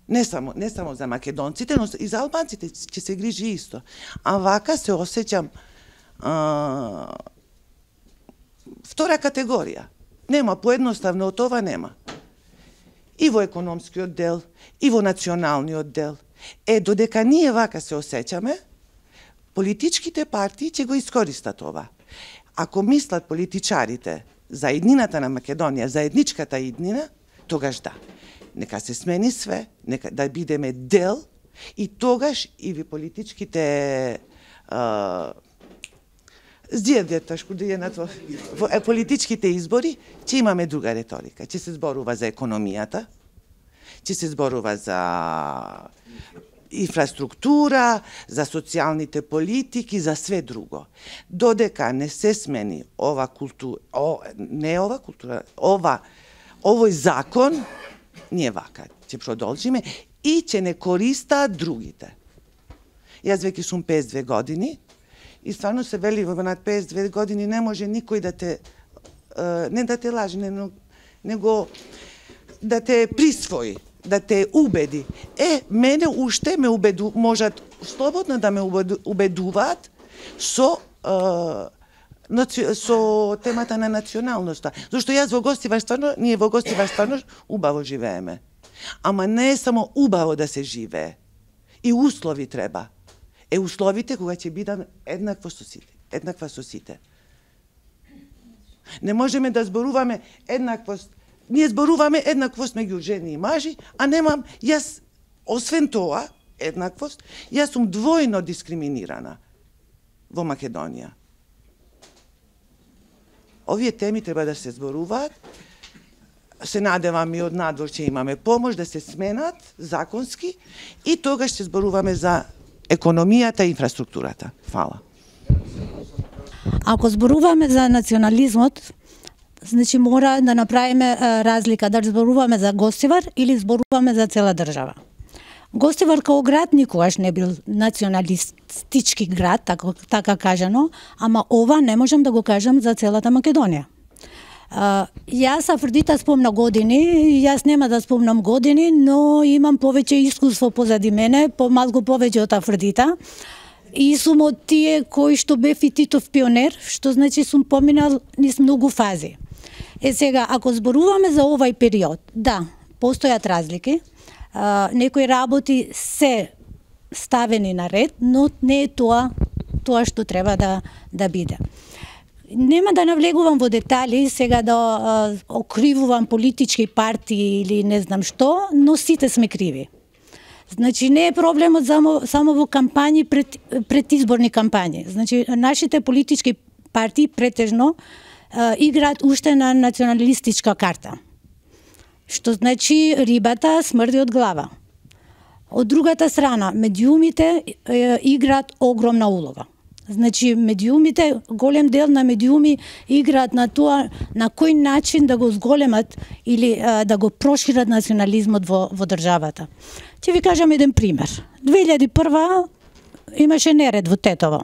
Не само, не само за македонците, но и за албанците ќе се грижи исто. А вака се осеќам а, втора категорија. Нема, поедноставно од ова нема. И во економскиот дел, и во националниот дел. Е, додека ние вака се осеќаме, политичките партии ќе го искористат ова. Ако мислат политичарите за иднината на Македонија, за етничката иднина, тогаш да. Нека се смени све, нека да бидеме дел и тогаш и ви политичките здијавдјата шкудијенат во политичките избори, ќе имаме друга реторика. Ќе се зборува за економијата, ќе се зборува за инфраструктура, за социјалните политики, за све друго. Додека не се смени ова култура, о, не ова култура, ова, овој закон, ние вака ќе продолжиме и ќе не користаат другите. Јас веќе сум песет и две години и стварно се вели во над песет и две години не може никој да те, не да те лаже, него да те присвои, да те убеди. Е, мене уште ме убеду, можат слободно да ме убедуваат со со темата на националноста. Зашто јас во Гостивар стварно, ние во Гостивар стварно убаво живееме. Ама не е само убаво да се живее. И услови треба. Е, условите кога ќе бидам еднакво со сите, еднаква со сите. Не можеме да зборуваме еднаквост. Ние зборуваме еднаквост меѓу жени и мажи, а немам, јас, освен тоа, еднаквост, јас сум двојно дискриминирана во Македонија. Овие теми треба да се зборуваат се надевам и од надвор ќе имаме помош да се сменат законски и тогаш ќе зборуваме за економијата и инфраструктурата. Фала. Ако зборуваме за национализмот, значи мора да направиме разлика да зборуваме за Гостивар или зборуваме за цела држава. Гостивар као град никогаш не бил националистички град, така, така кажано, ама ова не можам да го кажам за целата Македонија. Uh, јас Афродита спомна години, јас нема да спомнам години, но имам повеќе искуство позади мене, помалку повеќе од Афродита. И сум од тие кои што бев и Титов пионер, што значи сум поминал низ многу фази. Е сега, ако зборуваме за овај период, да, постојат разлики, uh, некои работи се ставени на ред, но не е тоа тоа што треба да да биде. Нема да навлегувам во детали, сега да а, окривувам политички партии или не знам што, но сите сме криви. Значи не е проблемот само, само во кампањи, пред, предизборни кампањи. Значи нашите политички партии претежно а, играат уште на националистичка карта. Што значи рибата смрди од глава. Од другата страна, медиумите е, играат огромна улога. Значи, медиумите, голем дел на медиуми играат на тоа на кој начин да го зголемат или а, да го прошират национализмот во, во државата. Ќе ви кажам еден пример. две илјади и прва имаше неред во Тетово.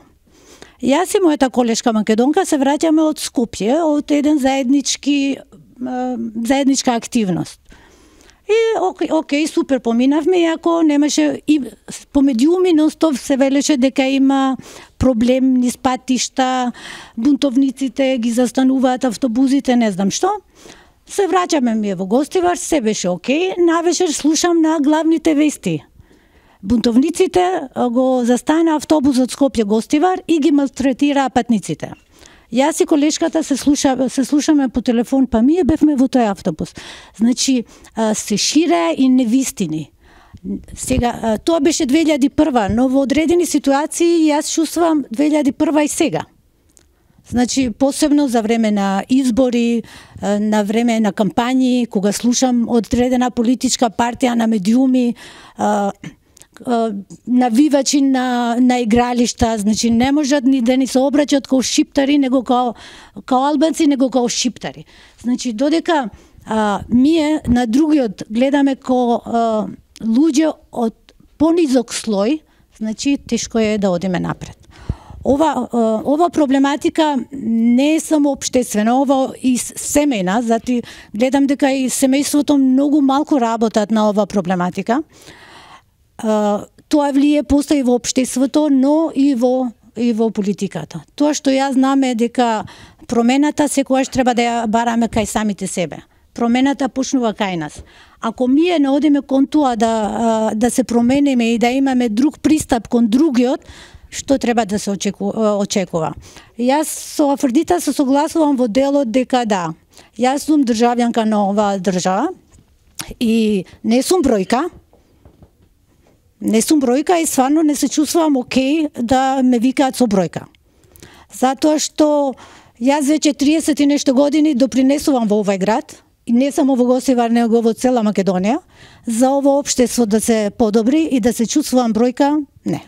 Јас и мојата колешка македонка се враќаме од Скопје, од еден заеднички, а, заедничка активност. И окей, окей, супер поминавме, иако немаше и по медиуми нон-стоп се велеше дека има проблем низ патишта, бунтовниците ги застануваат автобусите, не знам што. Се враќаме ми во Гостивар, се беше окей, навечер слушам на главните вести. Бунтовниците го застана автобусот Скопје Гостивар и ги малтретираа патниците. Јас и колешката се слуша, се слушаме по телефон, па ние бевме во тој автобус. Значи, се ширеа и невистини. Сега, тоа беше две илјади и прва, но во одредени ситуации јас чувствувам две илјади и прва и сега. Значи, посебно за време на избори, на време на кампањи, кога слушам одредена политичка партија на медиуми, навивачи на, на игралишта, значи не можат ни да ни се обраќаат као шиптари, него као, као албанци, него као шиптари. Значи, додека а, ние на другиот гледаме као а, луѓе од понизок слој, значи тешко е да одиме напред. Ова, а, ова проблематика не е само општествена, ова и семејна, зато гледам дека и семејството многу малку работат на ова проблематика. Uh, тоа влие постои во општеството, но и во и во политиката. Тоа што јас знам е дека промената секогаш треба да ја бараме кај самите себе. Промената почнува кај нас. Ако ние не одиме кон тоа да да се промениме и да имаме друг пристап кон другиот, што треба да се очекува? Јас со Афродита се согласувам во делот дека да, јас сум државјанка на оваа држава и не сум бројка. Не сум бројка и стварно не се чувствувам окей да ме викаат со бројка. Затоа што јас веќе триесет и нешто години допринесувам во овај град, и не само во Гостивар, него во цела Македонија, за ово општество да се подобри и да се чувствувам бројка, не.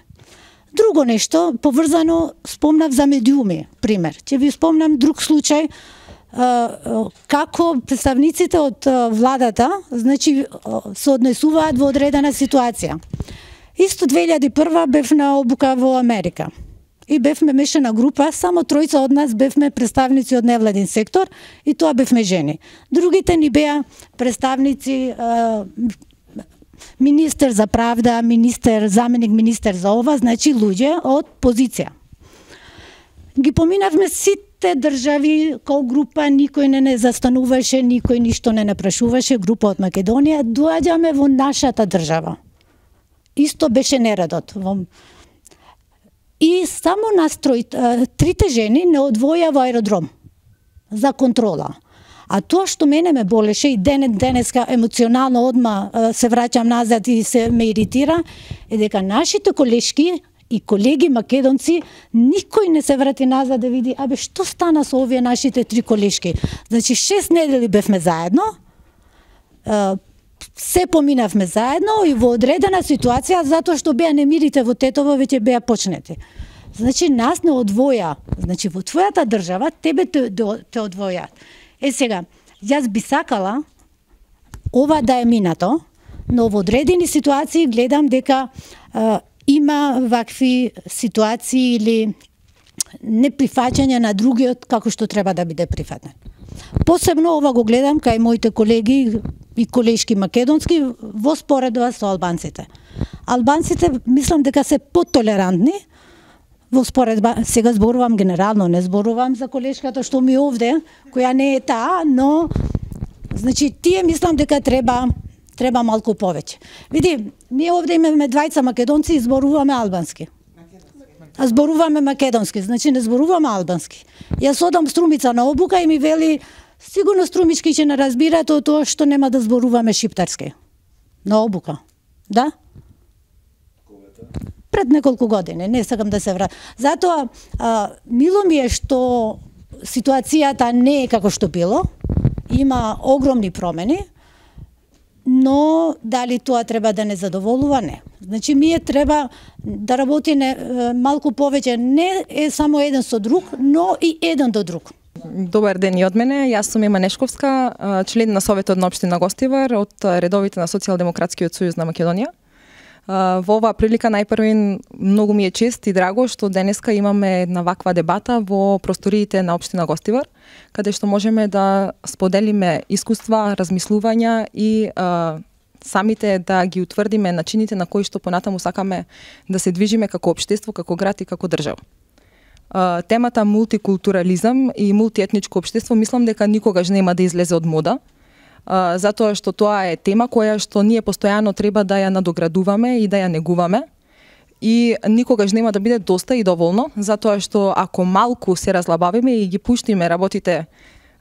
Друго нешто, поврзано, спомнав за медиуми, пример. Ќе ви спомнам друг случај, како представниците од владата, значи, се однесуваат во одредена ситуација. Исто две илјади и прва бев на обука во Америка. И бевме мешана група, само тројца од нас бевме представници од невладин сектор и тоа бевме жени. Другите ни беа представници, министер за правда, министер, заменик министер за ова, значи луѓе од позиција. Ги поминавме сите држави као група, никој не не застануваше, никој ништо не напрашуваше, група од Македонија, доаѓаме во нашата држава. Исто беше нередот. И само нас трој, трите жени не одвоја во аеродром за контрола. А тоа што мене ме болеше и денес денеска емоционално одма се враќам назад и се ме иритира, е дека нашите колешки и колеги македонци, никој не се врати назад да види, абе што стана со овие нашите три колешки. Значи шест недели бевме заедно, се поминавме заедно и во одредена ситуација, затоа што беа немирите во Тетово веќе беа почнети. Значи, нас не одвоја. Значи, во твојата држава, тебе те, те одвојаат. Е, сега, јас би сакала ова да е минато, но во одредени ситуации гледам дека а, има вакви ситуации или неприфаќање на другиот како што треба да биде прифатен. Посебно ова го гледам кај моите колеги и колешки македонски во споредба со албанците. Албанците мислам дека се потолерантни во споредба, сега зборувам генерално, не зборувам за колешката што ми овде, која не е таа, но значи тие мислам дека треба треба малку повеќе. Види, ние овде имаме двајца македонци и зборуваме албански. А зборуваме македонски, значи не зборуваме албански. Јас одам Струмица на обука и ми вели, сигурно струмички ќе не разбирате од тоа што нема да зборуваме шиптарски. На обука. Да? Пред неколку години, не сакам да се вратам. Затоа, а, мило ми е што ситуацијата не е како што било, има огромни промени, но дали тоа треба да не задоволува, не. Значи, ние треба да работи не, малку повеќе, не е само еден со друг, но и еден до друг. Добар ден и од мене, јас сум Ема Нешковска, член на Советот на општина Гостивар од редовите на Социјалдемократскиот сојуз на Македонија. Во оваа прилика најпрви многу ми е чест и драго што денеска имаме една ваква дебата во просториите на општина Гостивар, каде што можеме да споделиме искуства, размислувања и а, самите да ги утврдиме начините на кои што понатаму сакаме да се движиме како општество, како град и како држава. А, темата мултикултурализам и мултиетничко општество мислам дека никогаш нема да излезе од мода. Uh, затоа што тоа е тема која што ние постојано треба да ја надоградуваме и да ја негуваме и никогаш нема да биде доста и доволно, затоа што ако малку се разлабавиме и ги пуштиме работите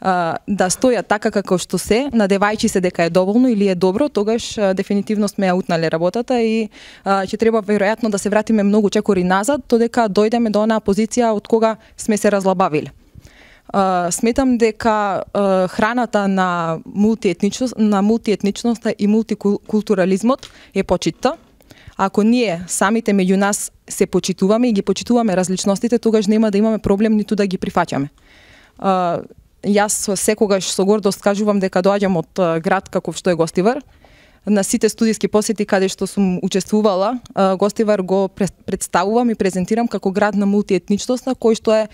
uh, да стојат така како што се, надевајќи се дека е доволно или е добро, тогаш uh, дефинитивно сме ја утнале работата и uh, ќе треба веројатно да се вратиме многу чекори назад, додека дојдеме до онаа позиција од кога сме се разлабавиле. Uh, сметам дека uh, храната на мултиетничност, на мултиетничноста и мултикултурализмот е почитта. Ако ние самите меѓу нас се почитуваме и ги почитуваме различностите, тогаш нема да имаме проблем ниту да ги прифаќаме. Uh, јас секогаш со гордост кажувам дека доаѓам од uh, град каков што е Гостивар. На сите студиски посети каде што сум учествувала, Гостивар го представувам и презентирам како град на мултиетничноста, кој што е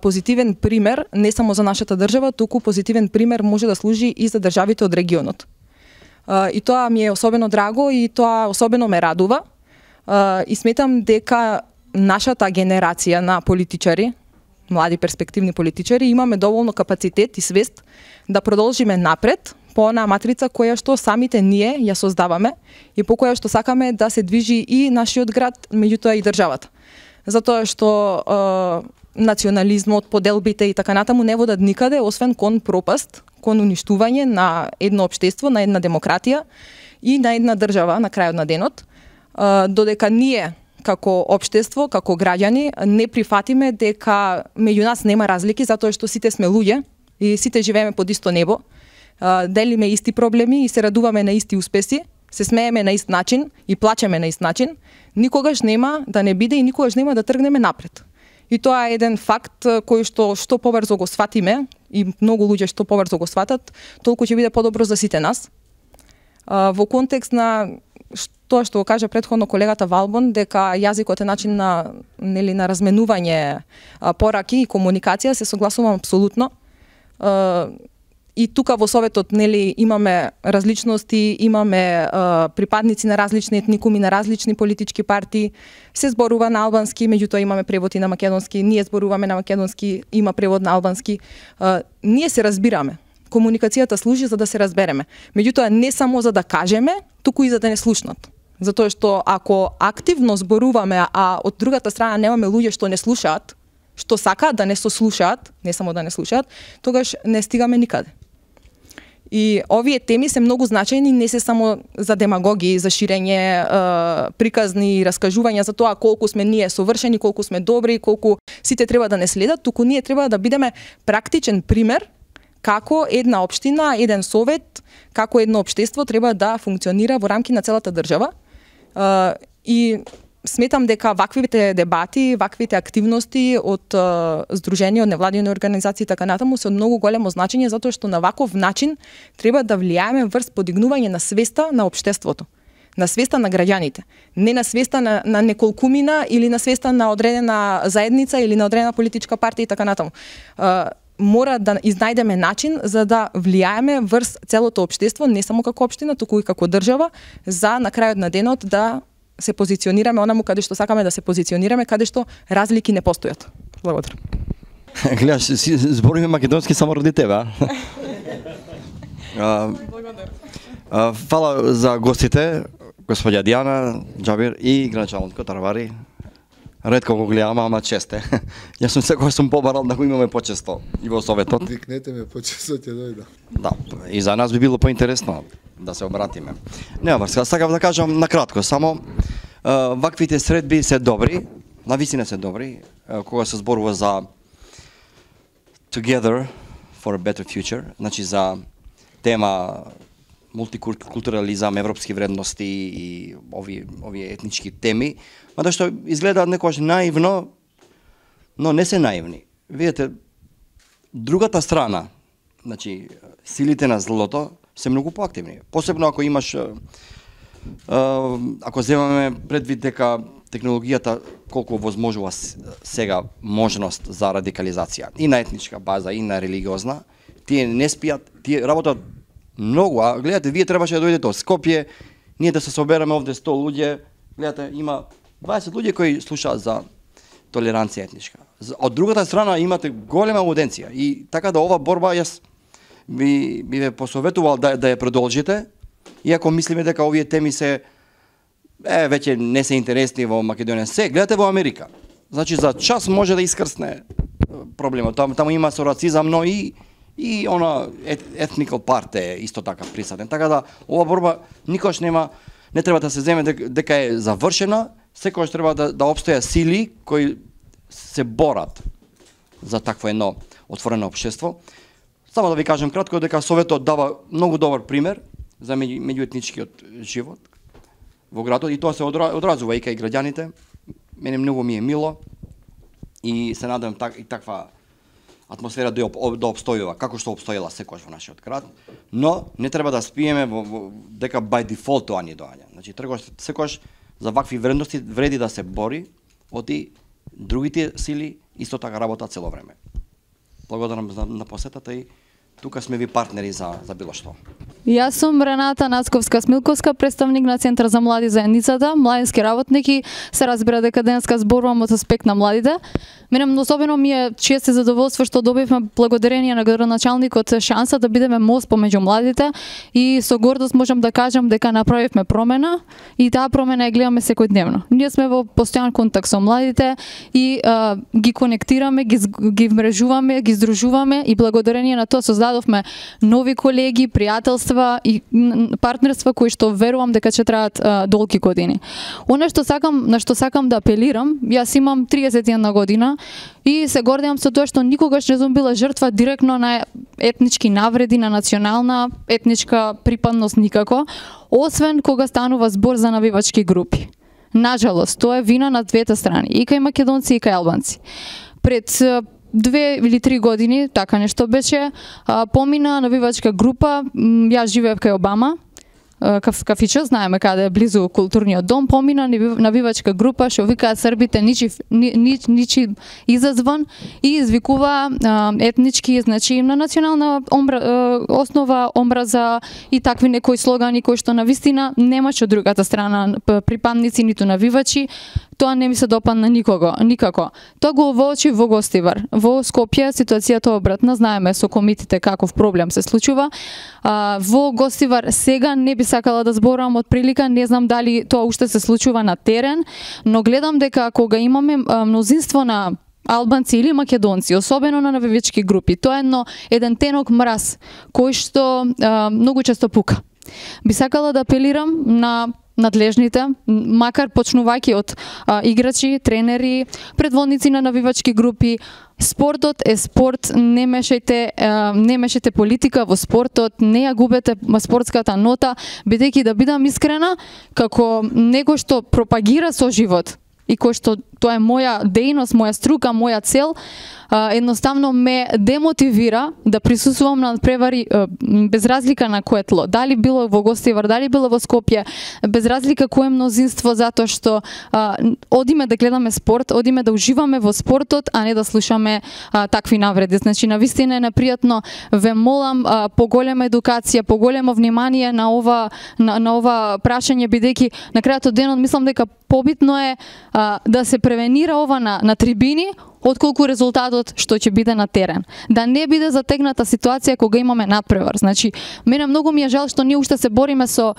позитивен пример не само за нашата држава, туку позитивен пример може да служи и за државите од регионот. И тоа ми е особено драго и тоа особено ме радува. И сметам дека нашата генерација на политичари, млади перспективни политичари, имаме доволно капацитет и свест да продолжиме напред по онаа матрица која што самите ние ја создаваме и по која што сакаме да се движи и нашиот град, меѓутоа и државата. Затоа што е, национализмот, поделбите и така натаму не водат никаде, освен кон пропаст, кон уништување на едно општество, на една демократија и на една држава на крајот на денот, е, додека ние како општество, како граѓани, не прифатиме дека меѓу нас нема разлики, затоа што сите сме луѓе и сите живееме под исто небо, делиме исти проблеми и се радуваме на исти успеси, се смееме на ист начин и плачеме на ист начин, никогаш нема да не биде и никогаш нема да тргнеме напред. И тоа е еден факт кој што што побрзо го сватиме и многу луѓе што побрзо го сватат, толку ќе биде подобро за сите нас. Во контекст на тоа што го кажа претходно колегата Валбон, дека јазикот е начин на нели на разменување пораки и комуникација, се согласувам апсолутно. И тука во Советот нели имаме различности, имаме а, припадници на различни етникуми, на различни политички партии, се зборува на албански, меѓутоа имаме превод и на македонски, ние зборуваме на македонски, има превод на албански. А, ние се разбираме. Комуникацијата служи за да се разбереме. Меѓутоа не само за да кажеме, туку и за да не слушнат. Затоа што ако активно зборуваме, а од другата страна немаме луѓе што не слушаат, што сакаат да не сослушаат, не само да не слушаат, тогаш не стигаме никаде. И овие теми се многу значајни, не се само за демагоги, за ширење е, приказни и раскажувања за тоа колку сме ние совршени, колку сме добри, колку сите треба да не следат, туку ние треба да бидеме практичен пример како една општина, еден совет, како едно општество треба да функционира во рамки на целата држава. Uh, и сметам дека ваквите дебати, ваквите активности од uh, здружени, од невладини организации и така натаму се од многу големо значење, затоа што на ваков начин треба да влијаеме врз подигнување на свеста на општеството, на свеста на граѓаните, не на свеста на, на неколкумина или на свеста на одредена заедница или на одредена политичка партија и така натаму. Uh, мора да изнајдеме начин за да влијаеме врз целото општество, не само како општина, туку и како држава, за на крајот на денот да се позиционираме онаму каде што сакаме да се позиционираме, каде што разлики не постојат. Благодарам. Гледаш, си збориме македонски само ради тебе, а? а фала за гостите, господја Дијана, Џабир и граначалникот Арвари. Ретко го гледам, ама честе. Јас сум секој сум побарал да го имаме почесто и во советот. Викнете ме почесто ќе дојдам. Да, и за нас би било поинтересно да се обратиме. Нема врска, сакав да кажам на кратко, само uh, ваквите средби се добри, навистина се добри, uh, кога се зборува за Together for a Better Future, значи за тема мултикултурализам, европски вредности и ови овие етнички теми, мада што изгледаат некогаш наивно, но не се наивни. Видете, другата страна, значи силите на злото се многу поактивни. Посебно ако имаш, ако земаме предвид дека технологијата колку возможува сега можност за радикализација и на етничка база и на религиозна, тие не спијат, тие работат многу, а гледате, вие требаше да дојдете од Скопје, ние да се собереме овде сто луѓе, гледате, има дваесет луѓе кои слушаат за толеранција етничка. Од другата страна имате голема ауденција и така да ова борба јас би, би ве посоветувал да, да ја продолжите, иако мислиме дека овие теми се е, веќе не се интересни во Македонија. Се, гледате во Америка. Значи за час може да искрсне проблемот. Таму, таму има со рацизам, но и и она ethnical part е исто така присутен. Така да ова борба никош нема, не треба да се земе дека, дека е завршена, секогаш треба да, да обстоја сили кои се борат за такво едно отворено општество. Само да ви кажам кратко дека Советот дава многу добар пример за меѓуетничкиот живот во градот и тоа се одразува и кај граѓаните. Мене многу ми е мило и се надевам так, и таква атмосфера да, да обстојува, како што обстоила секојаш во нашиот град, но не треба да спиеме во, во, дека by default тоа ни доаѓа. Значи, тргаш секојаш за вакви вредности вреди да се бори, оти другите сили исто така работат цело време. Благодарам за, на посетата и тука сме ви партнери за, за било што. Јас сум Рената Нацковска-Смилковска, представник на Центар за млади заедницата, младински работник и се разбира дека денеска зборувам од аспект на младите. Мене особено ми е чест и задоволство што добивме благодарение на градоначалникот шанса да бидеме мост помеѓу младите и со гордост можам да кажам дека направивме промена и таа промена ја гледаме секојдневно. Ние сме во постојан контакт со младите и а, ги конектираме, ги, ги мрежуваме, ги здружуваме и благодарение на тоа создадовме нови колеги, пријателства и партнерства кои што верувам дека ќе траат а, долги години. Она што сакам, на што сакам да апелирам, јас имам триесет и една година и се гордеам со тоа што никогаш не сум била жртва директно на етнички навреди, на национална етничка припадност никако, освен кога станува збор за навивачки групи. Нажалост, тоа е вина на двете страни, и кај македонци и кај албанци. Пред две или три години, така нешто беше, помина навивачка група, јас живеев кај Обама, каф, кафичо, знаеме каде е близу културниот дом, помина навивачка група што викаат србите ничи, ни, ничи изазвон и извикува а, етнички, значи на национална омбра, а, основа омраза и такви некои слогани кои што на вистина немаше од другата страна припадници ниту навивачи. Тоа не ми се допадна никого, никако. Тоа го воочи во Гостивар. Во Скопје ситуацијата обратна, знаеме со комитите каков проблем се случува. А, во Гостивар сега не би сакала да зборувам од прилика, не знам дали тоа уште се случува на терен, но гледам дека кога имаме а, мнозинство на албанци или македонци, особено на навивачки групи, тоа е едно еден тенок мраз кој што а, многу често пука. Би сакала да апелирам на надлежните, макар почнувајќи од а, играчи, тренери, предводници на навивачки групи. Спортот е спорт, не мешајте, а, не мешајте политика во спортот, не ја губете спортската нота, бидејќи да бидам искрена, како некој што пропагира со живот и кој што тоа е моја дејност, моја струка, моја цел, а, едноставно ме демотивира да присуствувам на превари а, без разлика на кое тло. Дали било во Гостивар, дали било во Скопје, без разлика кое мнозинство, затоа што а, одиме да гледаме спорт, одиме да уживаме во спортот, а не да слушаме а, такви навреди. Значи, навистина е непријатно, ве молам, а, поголема едукација, поголемо внимание на ова на, на ова прашање, бидејќи на крајот од денот мислам дека побитно е а, да се превенира ова на, на трибини, отколку резултатот што ќе биде на терен. Да не биде затегната ситуација кога имаме надпревар. Значи, мене многу ми е жал што ние уште се бориме со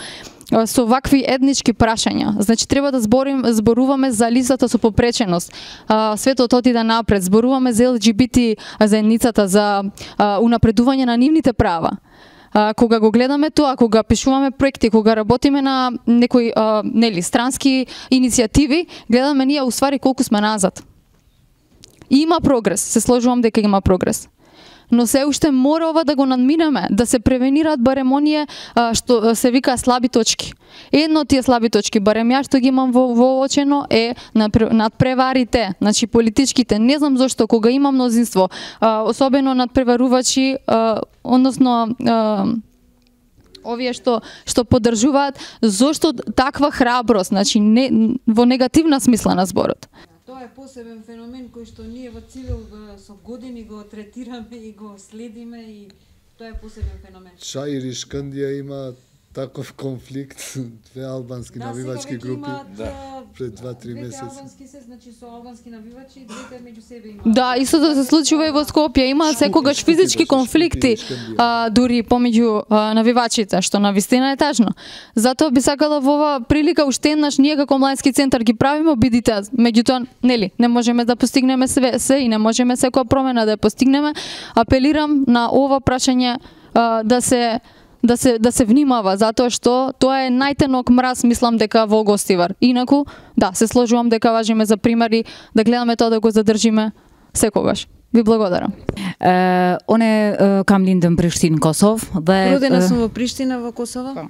со вакви етнички прашања. Значи, треба да зборим, зборуваме за листата со попреченост. А, светот отиде напред, зборуваме за Ел Џи Би Ти заедницата, за а, унапредување на нивните права. А, кога го гледаме тоа, кога пишуваме проекти, кога работиме на некои а, нели странски иницијативи, гледаме ние уствари колку сме назад. Има прогрес, се сложувам дека има прогрес. Но се уште мора ова да го надминеме, да се превенираат барем оние а, што се вика слаби точки. Едно од тие слаби точки, барем ја што ги имам во, во очено, е надпреварите, значи политичките. Не знам зошто кога има мнозинство, а, особено надпреварувачи, а, односно а, овие што што поддржуваат, зошто таква храброст, значи не, во негативна смисла на зборот. Тоа е посебен феномен кој што ние во Цивил со години го третираме и го следиме и тоа е посебен феномен. Чаир и Шкандија има таков конфликт, две албански да, навивачки групи имат, да. пред два-три месеци. Двете албански се, значи со албански навивачи, двете меѓу себе имаат. Да, истото се случува и во Скопје, има секогаш физички конфликти, а, дури помеѓу а, навивачите, што навистина е тажно. Затоа би сакала во ова прилика уште еднаш ние како младински центар ги правиме обидите, меѓутоа нели, не можеме да постигнеме све, се и не можеме секоја промена да ја постигнеме. Апелирам на ова прашање а, да се да се да се внимава, затоа што тоа е најтенок мраз, мислам дека во Гостивар. Инаку, да, се сложувам дека важиме за примери, да гледаме тоа да го задржиме секогаш. Ви благодарам. Uh, Оне uh, kam lindëm Prishtinë, Kosovë dhe Родена сум во Приштина во Косово.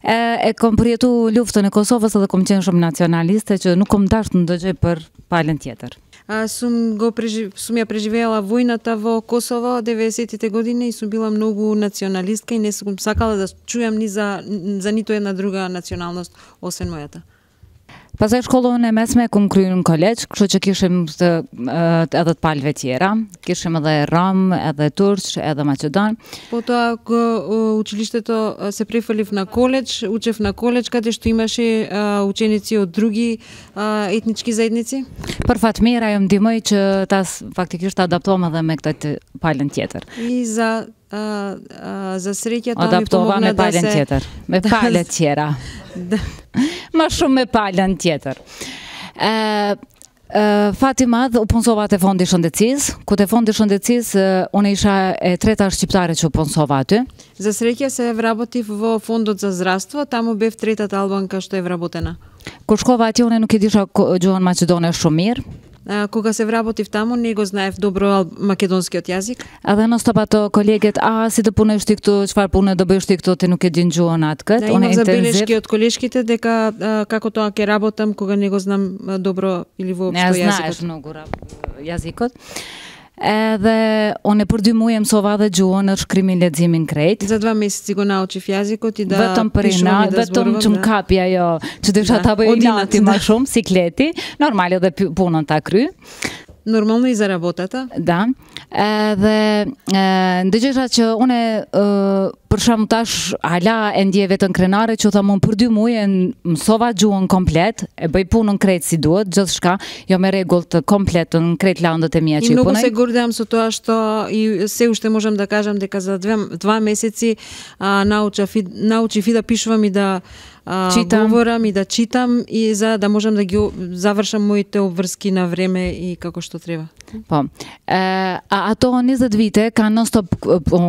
Uh, e kam përjetu luftën e Kosovës edhe kam qenë shumë nacionaliste që nuk kam dashur të ndëgjoj për palën tjetër. А, сум го прежив... сум ја преживеала војната во Косово деветдесетите години и сум била многу националистка и не сум сакала да чујам ни за за ниту една друга националност освен мојата. Pastaj shkollën e mesme kum kryer në kolegj, kështu që kishim të, edhe të palëve tjera, kishim edhe rom, edhe turq, edhe maqedon. Потоа го училиштето се префрлив на коледж, учев на коледж каде што имаше а, ученици од други а, етнички заедници. Për fat mirë ajo më ndihmoi që ta faktikisht adaptohem edhe me këtë palën tjetër. И за а, а, за среќа тоа ми Adaptova me помогна да palën се tjetër, me palë tjera. Да. Më shumë me palën tjetër. Ë Uh, fati madh u punsova te fondi shëndetësisë, ku te fondi shëndetësisë uh, unë isha e treta shqiptare që u punsova aty. За среќа се вработив во фондот за здравство, таму бев третата албанка што е вработена. Kur shkova atje unë nuk e disha gjuhën maqedone shumë mirë. А, кога се вработив таму, не го знаев добро ал- македонскиот јазик. Edhe non stop ato koleget, a si të punojsh ti këtu, çfarë pune do bësh ti këtu, ti nuk e din gjuhën atë këtë. Да, имав забелешки од колешките дека а, како тоа ќе работам кога не го знам а, добро или воопшто Ne јазикот. znaesh mnogo jazikot. Edhe unë për dy muaj mësova dhe gjuhën në shkrimin, leximin krejt. За два месеци го научив јазикот и да Vetëm për пишувам inat, и да vetëm зборувам. që më да. kapi ajo, që desha Da, ta bëj od inati inat, më da. shumë, sikleti, normal edhe pi- punën ta kry. Нормално и за работата. Da. Edhe e, ndëgjesha që une e, për shembull tash hala e ndjej vetën krenare që thamun për dy muaj e mësova gjuhën komplet, e bëj punën krejt si duhet, gjithçka, jo me rregull të kompletën krejt landët e mia И që i многу punoj. се гордеам со тоа што и се уште можам да кажам дека за две, два месеци а, научав, и, научив и да пишувам и да а, Читам. говорам и да читам и за да можам да ги о- завршам моите обврски на време и како што треба. Po. E, a ato njëzet vite kanë non stop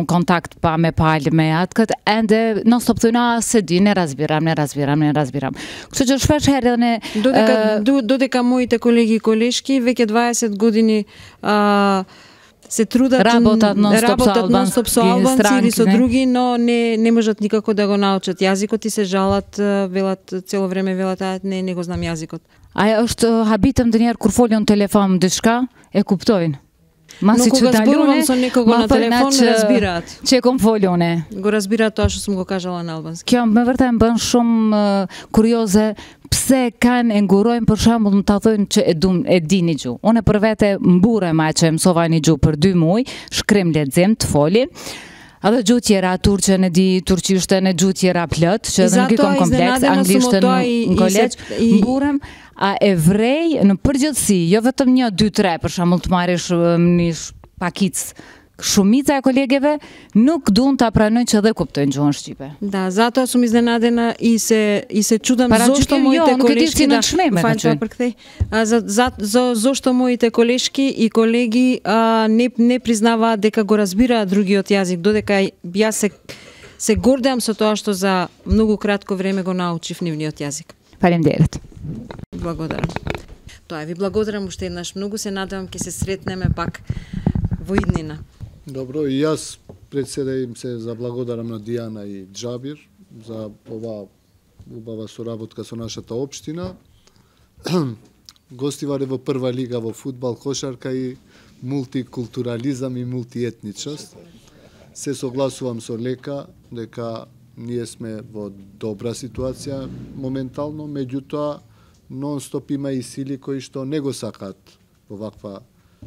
kontakt pa me palë, me јаткат, енде non-stop тој седи, не разбирам, не разбирам, не разбирам. Кшто ќе швеш хердане... Додека, додека моите колеги и колешки веќе дваесет години а, се трудат, работат нон-стоп со албанци или со други, но не не можат никако да го научат јазикот и се жалат, велат цело време велат, а не не го знам јазикот. А është habitem të njerë kur foljon telefon diçka, e kuptojnë. Но кога зборувам со некого на телефон, ме разбираат. Че ком foljoне. Го разбираат тоа што сум го кажала на албански. Kjo me vërtet më bën shumë kurioze pse kanë e ngurojnë për shembull më ta thonë që e dum e dini gjuhë. Unë për vete mburem aq që mësova një gjuhë për dy muaj, shkrim lexim të foli. Edhe gjuhë tjera, turqen e di, turqishten e gjuhë tjera plot, që edhe nuk i kom kompleks, anglishtën në kolegj, mburem, a evrej në përgjithësi, jo vetëm një, dy, tre, për shembull të marrish një pakic, shumica e kolegeve nuk duan ta pranojnë që dhe kuptojnë gjuhën shqipe. Да, затоа сум изненадена и се и се чудам зошто моите колешки да фаќа përkthej. За за за зошто моите колешки и колеги а, не не признаваат дека го разбираат другиот јазик, додека јас се се гордеам со тоа што за многу кратко време го научив нивниот јазик. Фалемдерет. Благодарам. Тоа ви благодарам уште еднаш многу, се надевам ќе се сретнеме пак во иднина. Добро, и јас пред се да им се заблагодарам на Дијана и Џабир за ова убава соработка со нашата општина. Гостивар е во прва лига во фудбал, кошарка и мултикултурализам и мултиетничност. Се согласувам со Лека дека ние сме во добра ситуација моментално, меѓутоа нон-стоп има и сили кои што не го сакаат во ваква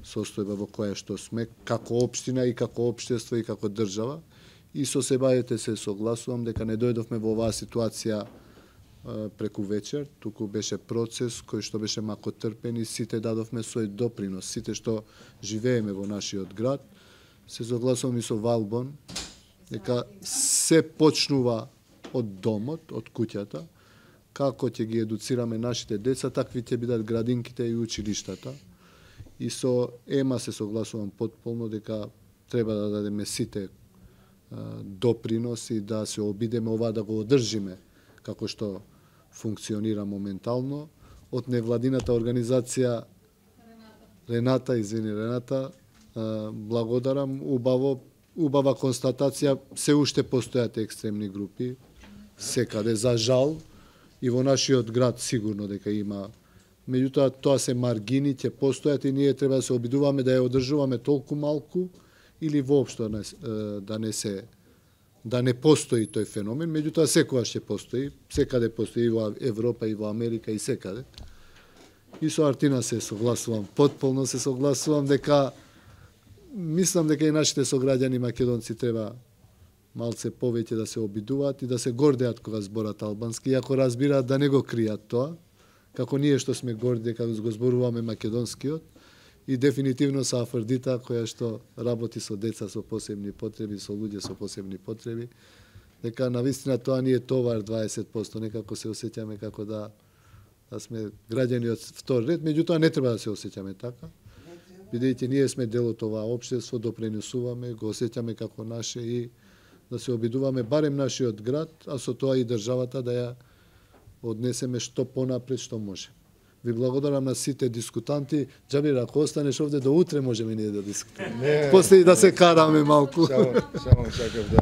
состојба во која што сме како општина и како општество и како држава. И со себајете се согласувам дека не дојдовме во оваа ситуација е, преку вечер, туку беше процес кој што беше макотрпен и сите дадовме свој допринос, сите што живееме во нашиот град. Се согласувам и со Валбон дека се почнува од домот, од куќата, како ќе ги едуцираме нашите деца, такви ќе бидат градинките и училиштата. И со Ема се согласувам потполно дека треба да дадеме сите а, доприноси да се обидеме ова да го одржиме како што функционира моментално. Од невладината организација Рената, извини Рената, а, благодарам, убаво, убава констатација, се уште постојат екстремни групи, секаде, за жал, и во нашиот град сигурно дека има. Меѓутоа, тоа се маргини, ќе постојат и ние треба да се обидуваме да ја одржуваме толку малку или воопшто да, да не се да не постои тој феномен, меѓутоа секогаш ќе постои, секаде постои и во Европа и во Америка и секаде. И со Артина се согласувам, потполно се согласувам дека мислам дека и нашите сограѓани македонци треба малце повеќе да се обидуваат и да се гордеат кога зборат албански, иако разбираат да не го кријат тоа, како ние што сме горди дека го зборуваме македонскиот, и дефинитивно со Афрдита која што работи со деца со посебни потреби, со луѓе со посебни потреби, дека навистина тоа ни е товар дваесет проценти, некако се осеќаме како да, да сме граѓани од втор ред, меѓутоа не треба да се осеќаме така, бидејќи ние сме дел од ова општество, допринесуваме, го осеќаме како наше и да се обидуваме барем нашиот град, а со тоа и државата да ја однесеме што понапред што може. Ви благодарам на сите дискутанти. Џабир, ако останеш овде до утре можеме ние да дискутираме. После и да се караме малку. Само, само сакав да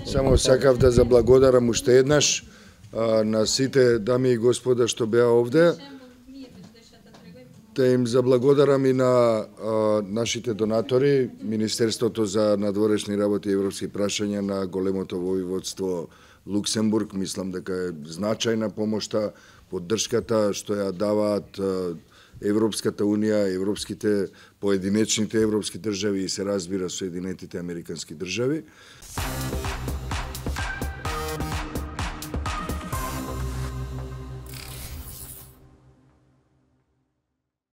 само сакав да заблагодарам уште еднаш а, на сите дами и господа што беа овде. Да им заблагодарам и на а, нашите донатори, Министерството за надворешни работи и европски прашања на големото војводство Луксембург, мислам дека е значајна помошта, поддршката што ја даваат Европската Унија, европските поединечните европски држави и се разбира Соединетите Американски држави.